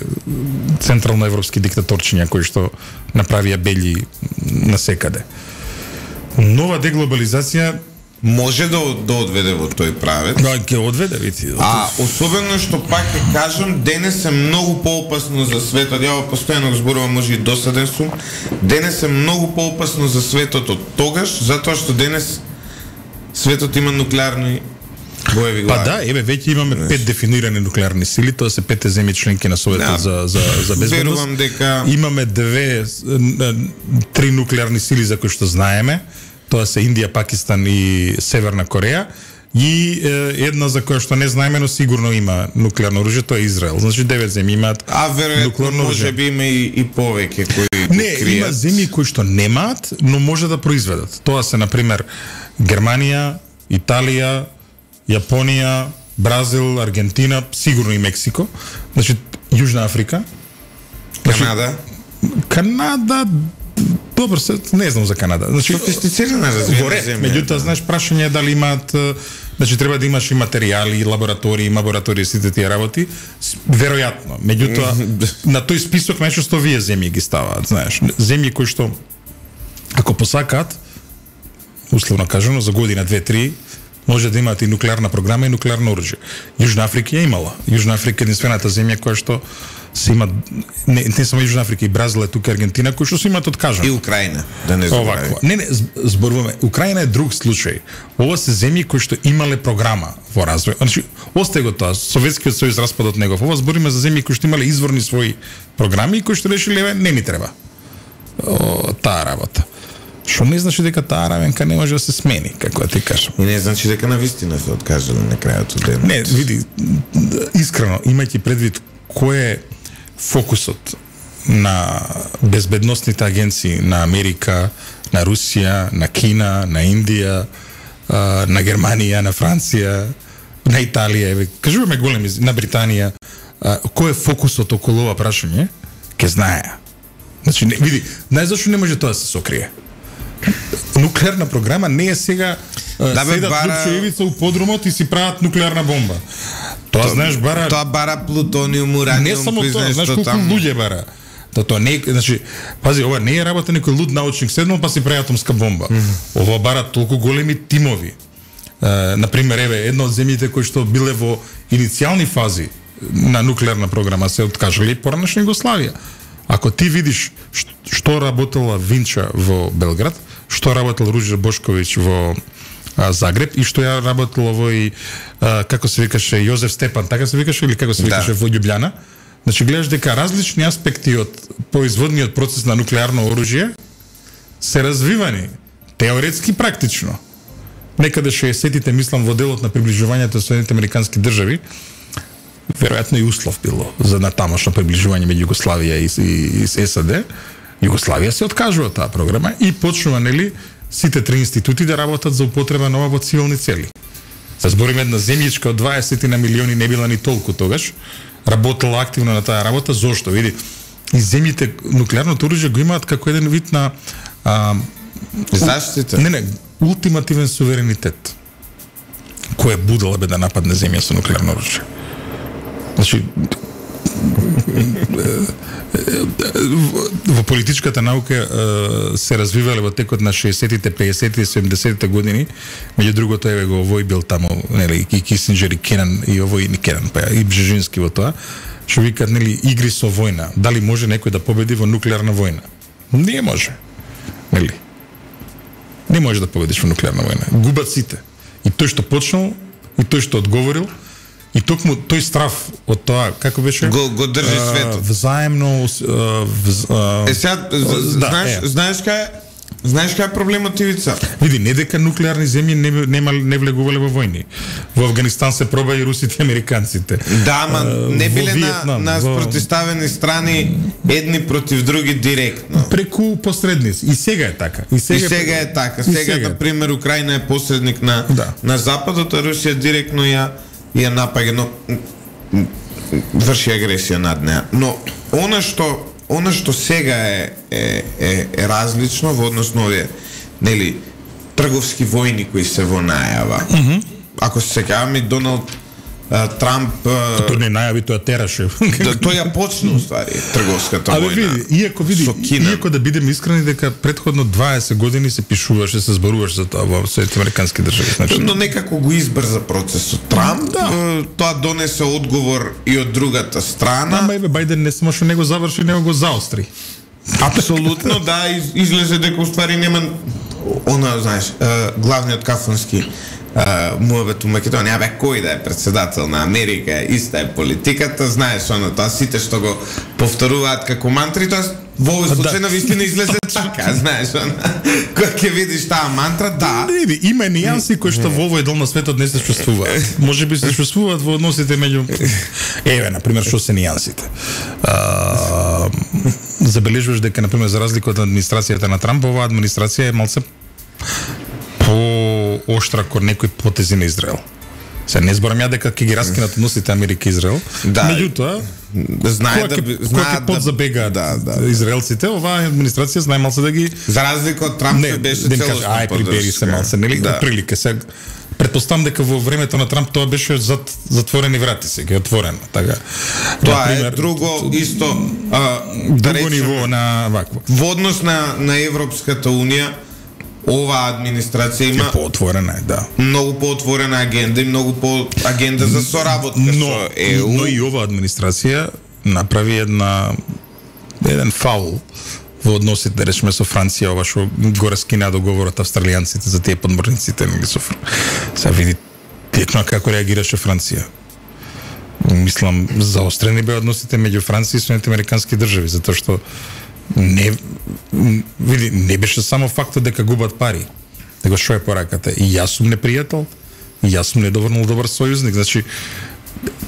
централноевропски диктаторчиња кои што направија бели насекаде. Нова деглобализација може да, да одведе во тој правец. Да, ќе одведе, види. А особено што пак ќе кажам, денес е многу поопасно за светот. Ја постојано го зборувам, може и досаден сум. Денес е многу поопасно за светот од тогаш, затоа што денес светот има нуклеарни боеви глави. Па да, еве веќе имаме пет дефинирани нуклеарни сили, тоа се петте земји членки на Советот за за за безбедност. Верувам дека имаме две три нуклеарни сили за кои што знаеме. Тоа се Индија, Пакистан и Северна Кореја, и е, една за која што не знаеме, но сигурно има нуклеарно оружје, тоа е Израел. Значи девет земји имаат а веројатно може би има и, и повеќе кои не, кријат. Има земји кои што немаат, но може да произведат. Тоа се, например, Германија, Италија, Јапонија, Бразил, Аргентина, сигурно и Мексико, значи Јужна Африка, значи, Канада. Канада, добро, се, не знам за Канада. Значи, софистицирана развиена земја. Меѓутоа, знаеш, прашање е дали имаат, значи треба да имаш и материјали, и лаборатории, лаборатории, сите тие работи, веројатно. Меѓутоа, на тој список најчесто вие земји ги ставаат, знаеш, земји кои што ако посакаат, условно кажано, за година, две, три, може да имаат и нуклеарна програма и нуклеарно оружје. Јужна Африка ја имала. Јужна Африка е единствената земја која што се има, не, не само Јужна Африка, и Бразил е тука, Аргентина, кои што се имаат откажано. И Украина, да не забраваме. Не, не, зборуваме. Украина е друг случај. Ова се земји кои што имале програма во развој. Значи, остај го тоа, Советскиот сојуз распад од негов. Ова збориме за земји кои што имале изворни своји програми и кои што решиле, еве, не ни треба о, таа работа. Што не значи дека таа равенка не може да се смени, како да ти кажам. И не значи дека на вистина се откажале на крајот од денот. Не, види, искрено, имајќи предвид кој е фокусот на безбедносните агенции на Америка, на Русија, на Кина, на Индија, на Германија, на Франција, на Италија, еве, кажуваме големи, на Британија, кој е фокусот околу ова прашање, ќе знае. Значи, не, види, знаеш зашто не може тоа да се сокрие? Нуклеарна програма не е сега да, седат бара... Лупчо Ивица у подрумот и си прават нуклеарна бомба. Тоа, тоа знаеш бара... Тоа бара плутониум, ураниум, не само тоа, знаеш колку там... луѓе бара. Тоа тоа не, значи, пази, ова не е работа некој луд научник седнал па си прави атомска бомба. Mm -hmm. Ова бара толку големи тимови. Е, например, еве, една од земјите кои што биле во иницијални фази на нуклеарна програма се откажале и поранешна Југославија. Ако ти видиш што работела Винча во Белград, што работел Руđer Бошковиќ во а, Загреб и што ја работел овој, а, како се викаше, Јозеф Степан, така се викаше или како се викаше да. Во Љубљана. Значи гледаш дека различни аспекти од производниот процес на нуклеарно оружје се развивани теоретски практично. Некаде шеесеттите, мислам, во делот на приближувањето со Соединетите американски држави, веројатно и услов било за натамошно приближување меѓу Југославија и, и, и САД. Југославија се откажува таа програма и почнува, нели, сите три институти да работат за употреба на ова во цивилни цели. Се збориме една земјичка од дваесет на милиони, не била ни толку тогаш, работела активно на таа работа. Зошто? Види, и земјите нуклеарното оружје го имаат како еден вид на а, заштита. Не, не, ултимативен суверенитет. Кој е будала бе да нападне земја со нуклеарно оружје? Значи, во политичката наука се развивале во текот на шеесеттите, пеесеттите, седумдесеттите години. Меѓу другото, еве го овој бил таму, нели, и Кисинџер и Кенан, и овој и Кенан, па и Бжежински во тоа, што викаат, нели, игри со војна. Дали може некој да победи во нуклеарна војна? Не може. Нели? Не може да победиш во нуклеарна војна. Губат сите. И тој што почнал, и тој што одговорил, и токму тој страв од тоа, како беше? Го, го држи светот. Взаемно... Вз, е, сега, да, знаеш, е. знаеш кај знаеш кај е проблемот, Ивица? Види, не дека нуклеарни земји не, нема, не влегувале во војни. Во Афганистан се проба и русите и американците. Да, ама не биле Виетнам, на, на во... спротивставени страни едни против други директно. Преку посредници. И сега е така. И сега, и сега е така. Сега, сега, например, Украина е посредник на, да. на Западот, а Русија директно ја ја напаѓа, но врши агресија над неа. Но она што она што сега е е е, е различно во однос на овие, нели, трговски војни кои се во најава. Mm -hmm. Ако се сеќаваме, Доналд а, Трамп а, тој не најави, тоа тераше. Да, тој ја почна уствари трговската војна. Абе види, иако види, иако да бидеме искрени дека претходно дваесет години се пишуваше, се зборуваше за тоа во Соединетите американски држави, значи. Но некако го избрза процесот Трамп, да. Тоа донесе одговор и од другата страна. Ама еве Бајден не само што не го заврши, него го заостри. Апсолутно, да, из, излезе дека уствари нема она, знаеш, главниот кафански муабет у Македонија, бе, кој да е председател на Америка, иста е политиката, знаеш, оно, тоа сите што го повторуваат како мантри, тоа во овој случај на вистина излезе така, знаеш, оно, кога ќе видиш таа мантра, да. Не, не, има нијанси кои што во овој дел на светот не се чувствуваат. Може би се чувствуваат во односите меѓу... Еве, например, што се нијансите. А, забележуваш дека, например, за разлика од администрацијата на Трамп, оваа администрација е малце по оштра кон некои потези на Израел. Се не зборам ја дека ќе ги раскинат односите Америка и Израел. Да. Меѓутоа, знае да знаат да подзабегаат да, да, израелците, оваа администрација знае малце да ги за разлика од Трамп не, беше да целосно ај прибери се малце, нели? Да. Прилика се. Претпоставам дека во времето на Трамп тоа беше зад затворени врати, сега е отворено, така. Тоа например, е друго исто а, друго да речем, ниво на вакво. Во однос на на Европската унија, оваа администрација има поотворена, да. Многу поотворена агенда и многу по агенда за соработка со Е У. Но и оваа администрација направи една еден фаул во односите, да речеме, со Франција, ова што го раскина договорот австралијанците за тие подморниците, нели со Сега види текно како реагираше Франција. Мислам, заострени беа односите меѓу Франција и Соединените американски држави, затоа што не види не беше само фактот дека губат пари. Него што е пораката? И јас сум непријател, и јас сум недоволно добар сојузник. Значи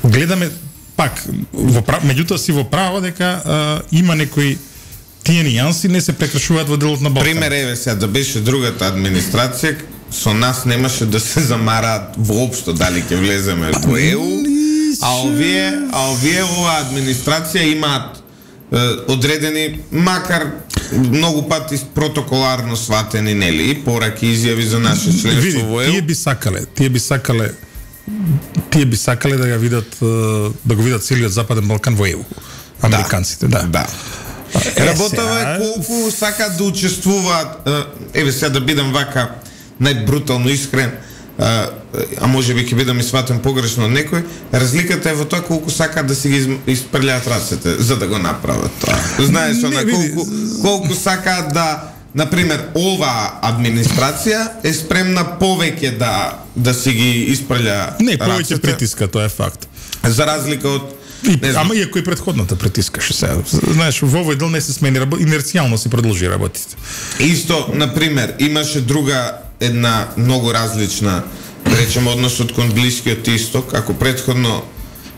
гледаме пак во прав... меѓутоа си во право дека а, има некои тие нијанси не се прекршуваат во делот на Балкан. Пример еве сега да беше другата администрација, со нас немаше да се замараат воопшто дали ќе влеземе во Е У, а овие, а овие оваа администрација имаат е, одредени, макар многу пати протоколарно сватени, нели, и пораки изјави за наше членство во Е У. Тие би сакале, тие би сакале тие би сакале да ја видат, да го видат целиот Западен Балкан во Е У. Американците, да. Да. Е, работава е колку сакаат да учествуваат, еве сега да бидам вака најбрутално искрен, а, а може би ќе бидам и сватен погрешно од некој, разликата е во тоа колку сакаат да си ги испрлјаат рацете за да го направат тоа. Знаеш, она колку колку сакаат да, например, оваа администрација е спремна повеќе да да си ги испрлја не повеќе притиска, тоа е факт. За разлика од И, ама иако и предходната притискаше сега. Знаеш, во овој дел не се смени, инерцијално се продолжи работите. Исто, например, имаше друга една многу различна, речеме, односот кон Блискиот Исток, ако предходно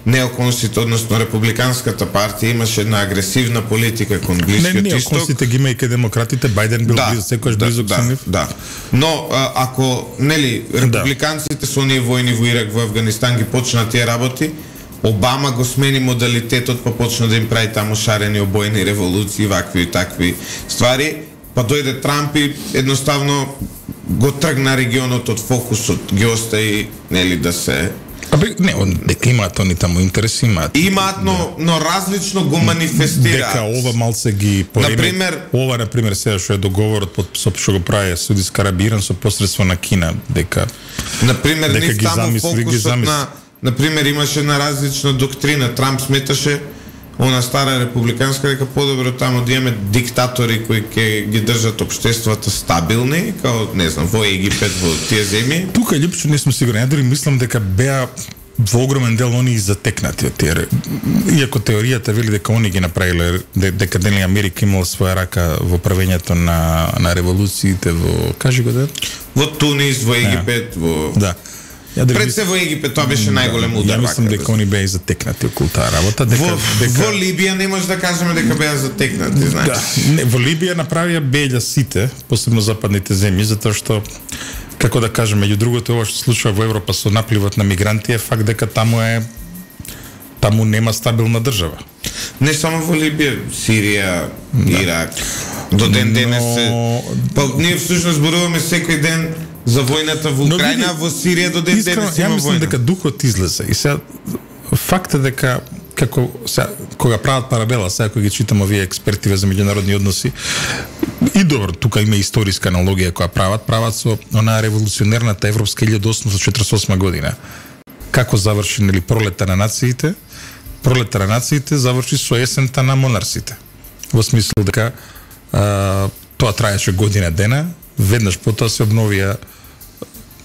неоконсите, односно републиканската партија имаше една агресивна политика кон Блискиот не, не, Исток. Не, неоконсите ги има и кај демократите, Бајден бил да, близок, секојаш да, близок да, со нив. Да. Но а, ако нели републиканците со оние војни во Ирак, во Афганистан ги почнат тие работи, Обама го смени модалитетот, па почна да им прави таму шарени обојни револуции, вакви и такви ствари, па дојде Трамп и едноставно го тргна регионот од фокусот, ги остави, нели, да се... Абе, не, дека имаат они таму интереси, имаат. Имаат, но, но различно го манифестираат. Дека ова малце ги пореми. Например, ова, например, сега што е договорот под што го прави Саудитска Арабија со посредство на Кина, дека... Например, дека нив ги таму замисли, фокусот ги замисли. на... Например, имаше една различна доктрина. Трамп сметаше она стара републиканска дека подобро таму да имаме диктатори кои ќе ги држат општествата стабилни, као, не знам, во Египет, во тие земји. Тука липче не сум сигурен. Ја дори мислам дека беа во огромен дел они затекнати од тие. Иако теоријата вели дека они ги направиле, дека дали Америка имала своја рака во правењето на на револуциите во, кажи го да? Во Тунис, во Египет, во да. Пред се во Египет тоа беше најголем удар. Ја мислам дека они беа затекнати околу таа работа, дека во, дека во Либија не може да кажеме дека беа затекнати, знаеш. Да, не, во Либија направија беља сите, посебно западните земји, затоа што како да кажеме, меѓу другото ова што се случува во Европа со напливот на мигранти е факт дека таму е таму нема стабилна држава. Не само во Либија, Сирија, да. Ирак. До ден денес Но... се па ние всушност зборуваме секој ден за војната во Украина, во Сирија до ден денес има војна. Ја мислам дека духот излезе и сега факт е дека како сега, кога прават паралела, сега кога ги читам овие експертиве за меѓународни односи, и добро, тука има историска аналогија која прават, прават со онаа револуционерната европска илјада осумстотини четиридесет и осма година. Како заврши, нели, пролета на нациите? Пролета на нациите заврши со есента на монарсите. Во смисла дека а, тоа траеше година дена, веднаш потоа се обновија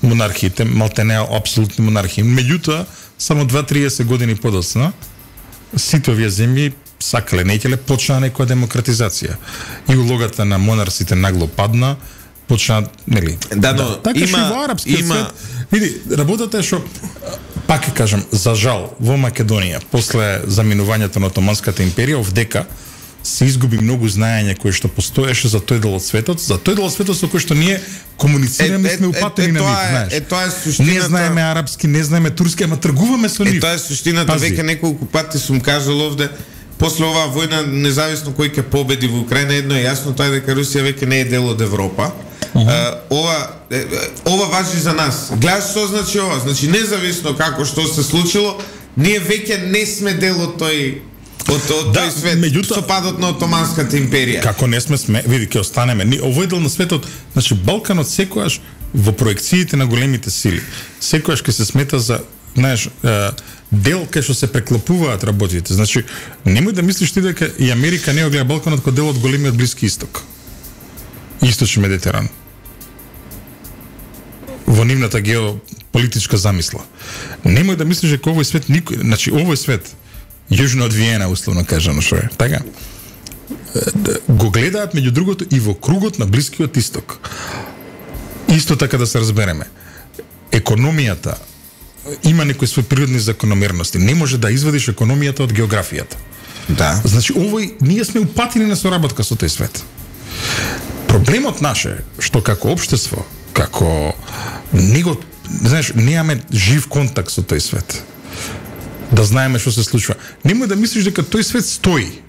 монархиите, малтене апсолутни монархии. Меѓутоа, само дваесет години подоцна, сите овие земји сакале, неќеле, почна некоја демократизација. И улогата на монарсите нагло падна, почна, нели? Да, но да, така има, што во арапскиот има... свет. Види, работата е што, пак ќе кажам, за жал, во Македонија, после заминувањето на Отоманската империја, овдека се изгуби многу знаење кое што постоеше за тој дел од светот, за тој дел од светот со кој што ние комуницираме, сме упатени на нив, знаеш. Е, тоа е суштината. Не знаеме арапски, не знаеме турски, ама тргуваме со нив. Е, тоа е суштината, веќе неколку пати сум кажал овде. После оваа војна, независно кој ќе победи во Украина, едно е јасно, тоа е дека Русија веќе не е дел од Европа. Uh-huh. Uh, ова, е, ова важи за нас. Гледаш што значи ова? Значи, независно како што се случило, ние веќе не сме дел од тој од, од да, тој свет, меѓуто, со падот на Отоманската империја. Како не сме, сме види, ќе останеме. Овој дел на светот, значи, Балканот секојаш во проекциите на големите сили, секојаш ќе се смета за, знаеш, дел кај што се преклопуваат работите. Значи, немој да мислиш ти дека и Америка не го гледа Балканот како дел од големиот Блиски Исток. Источни Медитеран. Во нивната геополитичка замисла. Немој да мислиш дека овој свет никој, значи овој свет јужно од Виена, условно кажано што е, така? Го гледаат меѓу другото и во кругот на Блискиот Исток. Исто така да се разбереме. Економијата има некои свои природни закономерности. Не може да извадиш економијата од географијата. Да. Значи, овој, ние сме упатени на соработка со тој свет. Проблемот наш е што како општество, како него, знаеш, немаме жив контакт со тој свет. Да знаеме што се случува. Немој да мислиш дека тој свет стои.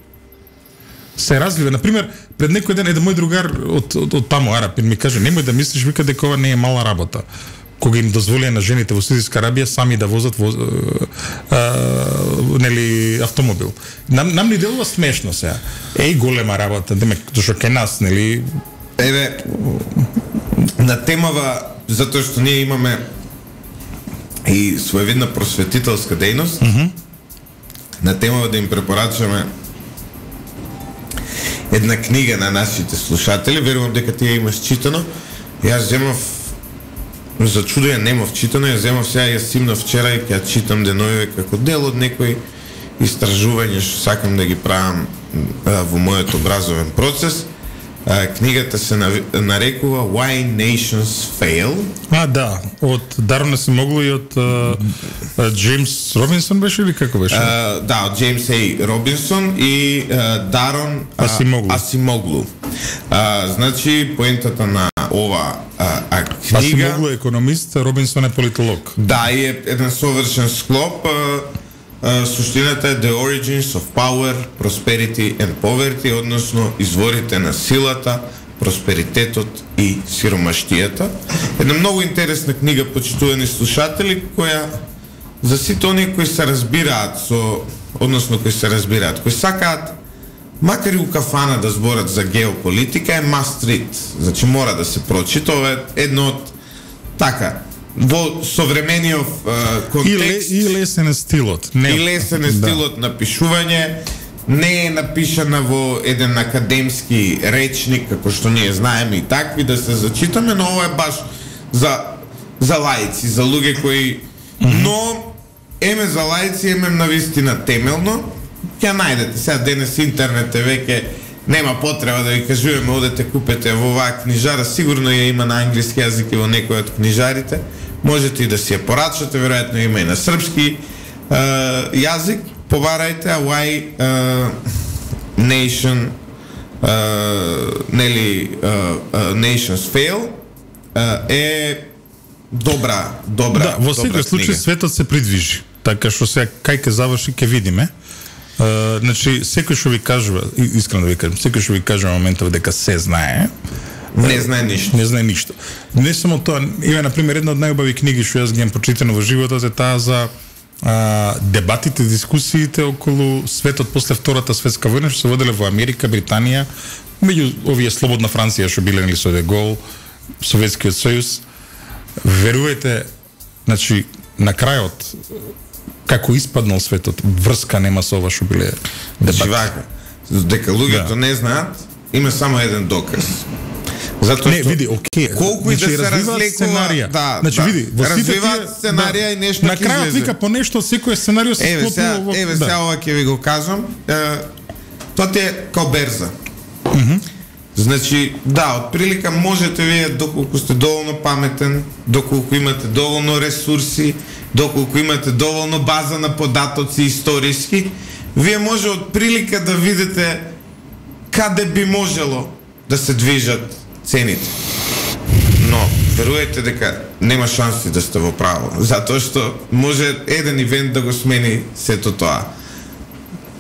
Се развива. Например, пред некој ден еден мој другар од, од, од таму Арапин ми каже, немој да мислиш вика дека ова не е мала работа. Кога им дозволија на жените во Саудитска Арабија сами да возат воз, а, нели автомобил. Нам нам ни делува смешно сега. Еј голема работа, демек зашто кај нас, нели. Еве на темава затоа што ние имаме и своевидна просветителска дејност. Mm-hmm. На темава да им препорачаме една книга на нашите слушатели, верувам дека ти ја имаш читано. Јас земав зачудо ја немав читано, ја земав сега ја симнав вчера и ќе ја читам деновиве како дел од некој истражување што сакам да ги правам а, во мојот образовен процес. А, книгата се нарекува Why Nations Fail. А, да, од Дарон Асимоглу и од Джеймс Робинсон беше или како беше? А, да, од Джеймс Ей Робинсон и а, Дарон Асимоглу. Асимоглу. А, значи, поентата на ова а, а, книга... Асимоглу е економист, Робинсон е политолог. Да, и е еден совршен склоп. А, а, суштината е The Origins of Power, Prosperity and Poverty, односно изворите на силата, просперитетот и сиромаштијата. Една многу интересна книга, почитувани слушатели, која за сите оние кои се разбираат со, односно кои се разбираат, кои сакаат макар и у кафана да зборат за геополитика, е must read. Значи мора да се прочита. Ова е едно од така во современиот контекст и, ле, и лесен е стилот. Не, и лесен е стилот да. На пишување. Не е напишана во еден академски речник, како што ние знаеме и такви да се зачитаме, но ова е баш за за лаици, за луѓе кои mm-hmm. но еме за лаици, еме навистина темелно. Ќе најдете сега денес интернет е веќе нема потреба да ви кажуваме одете купете во оваа книжара, сигурно ја има на англиски јазик и во некој од книжарите. Можете и да си ја порачате, веројатно има и на српски uh, јазик. Побарајте а Why uh, Nation uh, нели uh, uh, Nations Fail uh, е добра, добра. Да, во секој случај светот се придвижи. Така што сега кај ќе заврши ќе видиме. Uh, значи, секој што ви кажува, искрено да ви кажам, секој што ви кажува моментов дека се знае, не знае ништо. Не знае ништо. Не само тоа, има на пример една од најубави книги што јас ги имам прочитано во животот е таа за а, дебатите, дискусиите околу светот после Втората светска војна што се воделе во Америка, Британија, меѓу овие слободна Франција што биле нели со Де Гол, Советскиот сојуз. Верувајте, значи на крајот како испаднал светот, врска нема со ова што биле дебати. Значи вака, дека луѓето да. Не знаат, има само еден доказ. Затоа не, види, окей. Колку и да се разликува сценарија. Да, значи да. Види, во сите развиваат сценарија да. И нешто на крајот вика по нешто секој сценарио се склопува. Еве сега, во... еве сега да. Ова ќе ви го кажам. Е, тоа ти е као берза. Mm -hmm. Значи, да, отприлика можете вие доколку сте доволно паметен, доколку имате доволно ресурси, доколку имате доволно база на податоци историски, вие може отприлика да видите каде би можело да се движат цените. Но веруете дека нема шанси да сте во право, затоа што може еден ивент да го смени сето тоа.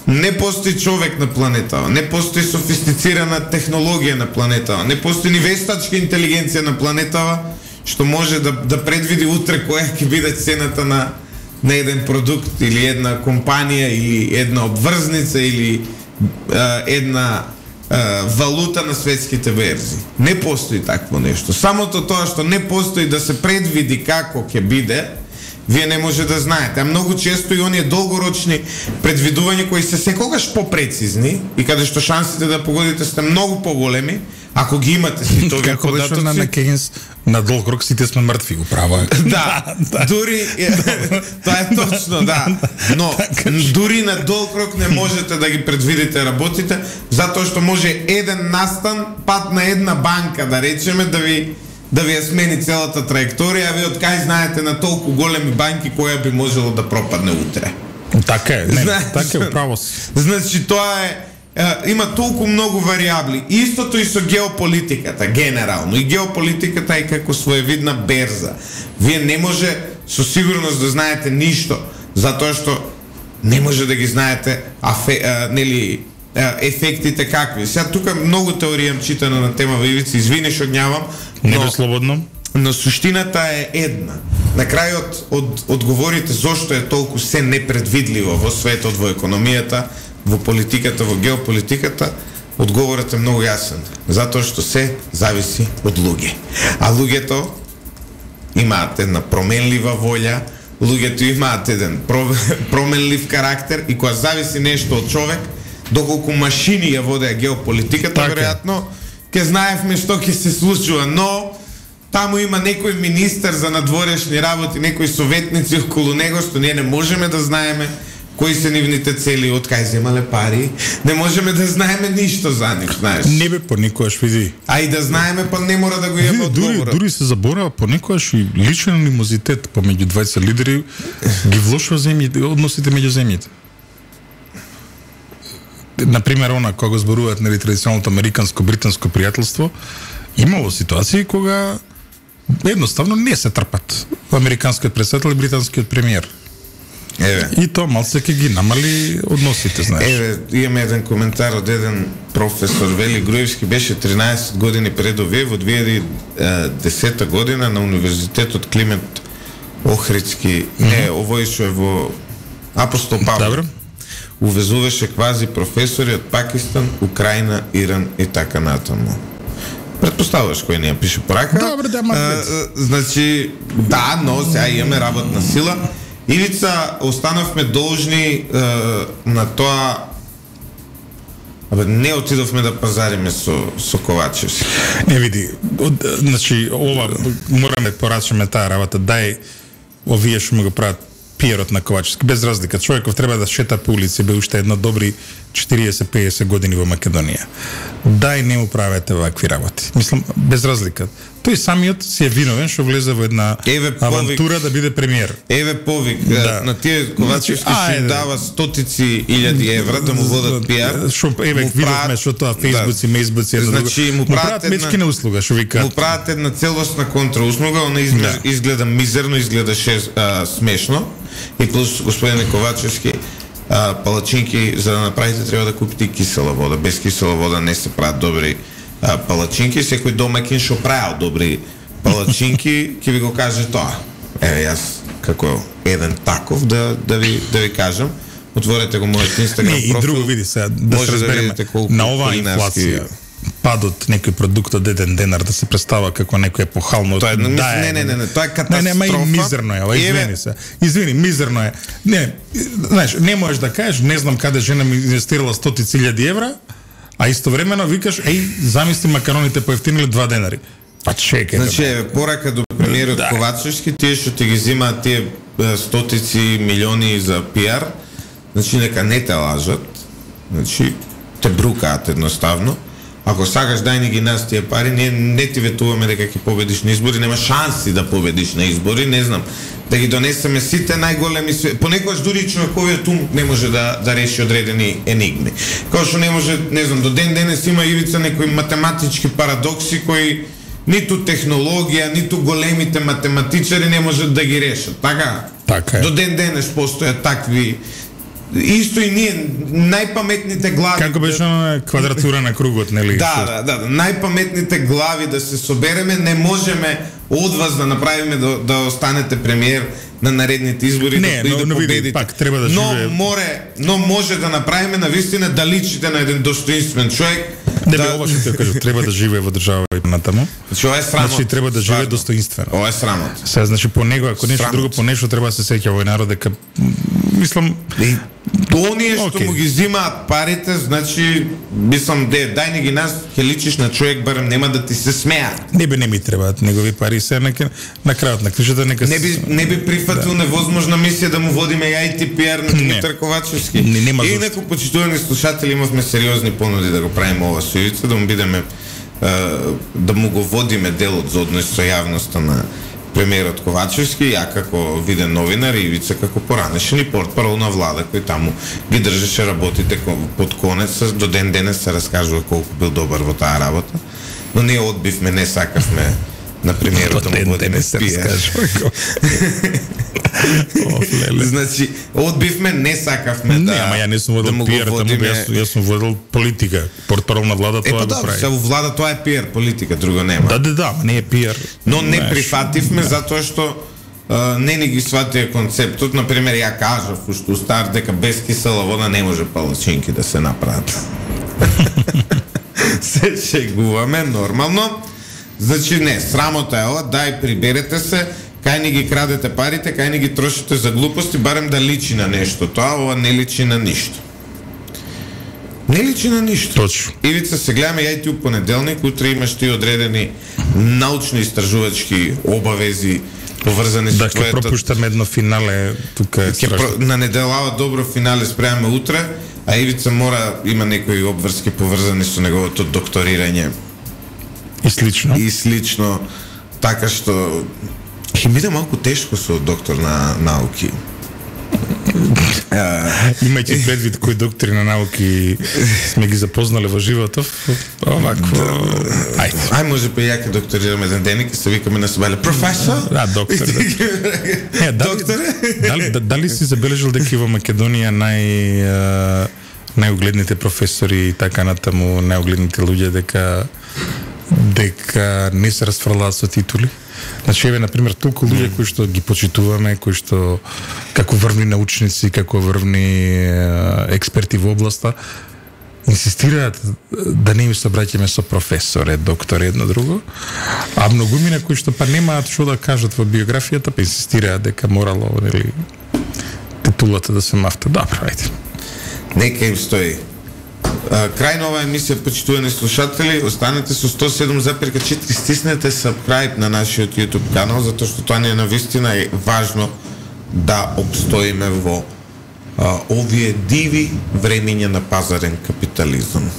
Не постои човек на планетава, не постои софистицирана технологија на планетава, не постои ни вештачка интелигенција на планетава што може да, да предвиди утре која ќе биде цената на, на еден продукт или една компанија или една обврзница или а, една а, валута на светските берзи. Не постои такво нешто. Самото тоа што не постои да се предвиди како ќе биде, вие не може да знаете. А многу често и оние долгорочни предвидувања кои се секогаш попрецизни и каде што шансите да погодите сте многу поголеми, ако ги имате си тоа како податоци. На, на Кейнс, на долг рок сите сме мртви, управа. Да, да, дури тоа е точно, да. Но дури на долг рок не можете да ги предвидите работите, затоа што може еден настан пат на една банка, да речеме, да ви да ви ја смени целата траекторија, а ви од кај знаете на толку големи банки која би можело да пропадне утре. Така е, не, значи, така е, право си. Значи тоа е, е, има толку многу вариабли. Истото и со геополитиката, генерално. И геополитиката е како своевидна берза. Вие не може со сигурност да знаете ништо, затоа што не може да ги знаете афе, а, нели, ефектите какви. Сега тука многу теорија читано на тема во Ивица, извини што гнјавам, не бе слободно. Но суштината е една. На крајот од одговорите зошто е толку се непредвидливо во светот, во економијата, во политиката, во геополитиката, одговорот е многу јасен. Затоа што се зависи од луѓе. А луѓето имаат една променлива волја, луѓето имаат еден променлив карактер и кога зависи нешто од човек, доколку машини ја водеа геополитиката, така, веројатно ќе знаевме што ќе се случува, но таму има некој министер за надворешни работи, некои советници околу него, што ние не можеме да знаеме кои се нивните цели, од кај земале пари, не можеме да знаеме ништо за нив, знаеш. Не бе, понекогаш види. А и да знаеме, па не мора да го имаме одговорот. Дури, дури се заборава понекогаш и личен анимозитет помеѓу дваесет лидери ги влошува земјите, односите меѓу земјите. Например, она кога го зборуваат нели традиционалното американско-британско пријателство, имало ситуации кога едноставно не се трпат американскиот претседател и британскиот премиер. Еве. И тоа малце ќе ги намали односите, знаеш. Еве, имаме еден коментар од еден професор Вели Груевски, беше тринаесет години пред овие, во две илјади и десета година на Универзитетот Климент Охридски, mm-hmm. не, овој што е во Апостол Павле. Добро. Увезуваше квази професори од Пакистан, Украина, Иран и така натаму. Предпоставуваш кој не ја пише порака. Добре, да, а, значи, да, но сега имаме работна сила. Ивица, останавме должни е, на тоа. Абе, не отидовме да пазариме со, со Ковачевски. Не види, од, значи, ова, мораме да порачаме таа работа, дај овие што ме го прават пиерот на Ковачевски, без разлика. Човеков треба да шета по улици, бе уште една добри четириесет до пеесет години во Македонија. Дај не му правете вакви работи. Мислам, без разлика. Тој самиот си е виновен што влезе во една Еве авантура повик, да биде премиер. Еве повик, да. На тие Ковачевски се им дава стотици илјади евра да му водат пиар. Шо еве видовме што тоа фејсбуци, мејсбуци, значи му прават мечкина услуга, што ви кажат. Му прават една целосна контрауслуга, она изгледа, да. изгледа мизерно, изгледа шест, а, смешно. И плюс господине Ковачевски, а, палачинки, за да направите треба да купите и кисела вода. Без кисела вода не се прават добри а, палачинки. Секој домакин што правил добри палачинки ќе ви го каже тоа. Еве јас како еден таков да да ви да ви кажам. Отворете го мојот Инстаграм профил. Не, и друго види сега да се разбереме на оваа инфлација. Падот некој продукт од еден денар да се представа како некој епохално. Тоа е, да, не, не, не, не, тоа е катастрофа. Не, не, ма и мизерно е, ова, извини се. Извини, мизерно е. Не, знаеш, не можеш да кажеш, не знам каде жена ми инвестирала стотици илјади евра, а истовремено викаш, еј, замисли макароните поевтиниле два денари. Па чекај. Значи, е, порака до премиерот да. Ковачевски, тие што ти ги земаат тие стотици милиони за пиар, значи нека не те лажат, значи те брукаат едноставно. Ако сакаш дај ни ги нас тие пари, ние не ти ветуваме дека ќе победиш на избори, нема шанси да победиш на избори, не знам. Да ги донесеме сите најголеми, понекогаш дури човековиот ум не може да да реши одредени енигми. Као што не може, не знам, до ден денес има ивица некои математички парадокси кои ниту технологија, ниту големите математичари не можат да ги решат. Така? Така е. До ден денес постојат такви. Исто и ние, најпаметните глави... Како беше на квадратура на кругот, нели? Да, да, да, да. Најпаметните глави да се собереме, не можеме од вас да направиме да, да останете премиер на наредните избори, не, да, но, да но победите. види, пак треба да но, живее. море, но може да направиме навистина да личите на еден достоинствен човек. Не, да... бе, ова што ти кажу, треба да живее во држава и натаму. Значи, ова е срамот. Значи, треба да живее достоинствено. Ова е срамот. Се, значи, по него, ако нешто друго, по нешто треба да се сеќа овој народ, дека, мислам... И оние што okay. му ги зимаат парите, значи, мислам, де, дај не ги нас, ќе личиш на човек, барем нема да ти се смеат. Не би, не ми требаат негови пари, се на, на крајот на кришата, нека... Не би, не би прифатил да. невозможна мисија да му водиме ай ти пи ар на Димитар Ковачевски. Не, нема и инаку, почитувани слушатели, имавме сериозни понуди да го правиме ова со Ивица, да му бидеме, да му го водиме делот за однос со јавноста на премиерот Ковачевски, ја како виден новинар и Ивица како поранешен и портпарол на влада кој таму ги држеше работите под конец, до ден денес се раскажува колку бил добар во таа работа, но ние одбивме, не сакавме на премиерот да му водиме пиар. Значи, одбивме, не сакавме да... Не, ама ја не сум водил да пиар, водиме... јас, јас сум водил политика. Портпарол на влада тоа е, го прави. Е, па да, влада тоа е пиар, политика, друго нема. Да, да, да, не е пиар. Но не прифативме да. Затоа што uh, не ни ги сватија концептот. Например, ја кажав уште устар дека без кисела вода не може палачинки да се направат. Се шегуваме нормално. Значи не, срамота е ова, дај приберете се, кај ни ги крадете парите, кај ни ги трошите за глупости, барем да личи на нешто. Тоа ова не личи на ништо. Не личи на ништо. Точно. Ивица, се гледаме ја и ти у понеделник, утре имаш ти одредени научни истражувачки обавези поврзани со да, твоето... Да, ќе пропуштаме едно финале тука е страшно. Про... На неделава добро финале спремаме утре, а Ивица мора, има некои обврски поврзани со неговото докторирање. И слично. И слично, така што ќе биде малку тешко со доктор на науки. Имајќи предвид кои доктори на науки сме ги запознали во животов, овакво... Ајде. Ај, може па ја ќе докторираме еден ден и ќе се викаме на собале професор? Да, доктор. Да. Е, дали, дали, дали си забележал дека и во Македонија нај најугледните професори и така натаму, најугледните луѓе дека дека не се расфрлаат со титули? Значи, еве, например, толку луѓе кои што ги почитуваме, кои што како врвни научници, како врвни експерти во областа, инсистираат да не им се обраќаме со професоре, доктори, едно друго, а многумина кои што па немаат што да кажат во биографијата, па инсистираат дека морало, нели, титулата да се мафта. Добро, ајде. Нека им стои. Крај на оваа емисија, почитувани слушатели, останете со сто седум запирка четири, стиснете сабскрајб на нашиот YouTube канал, затоа што тоа не е навистина е важно да обстоиме во а, овие диви времења на пазарен капитализам.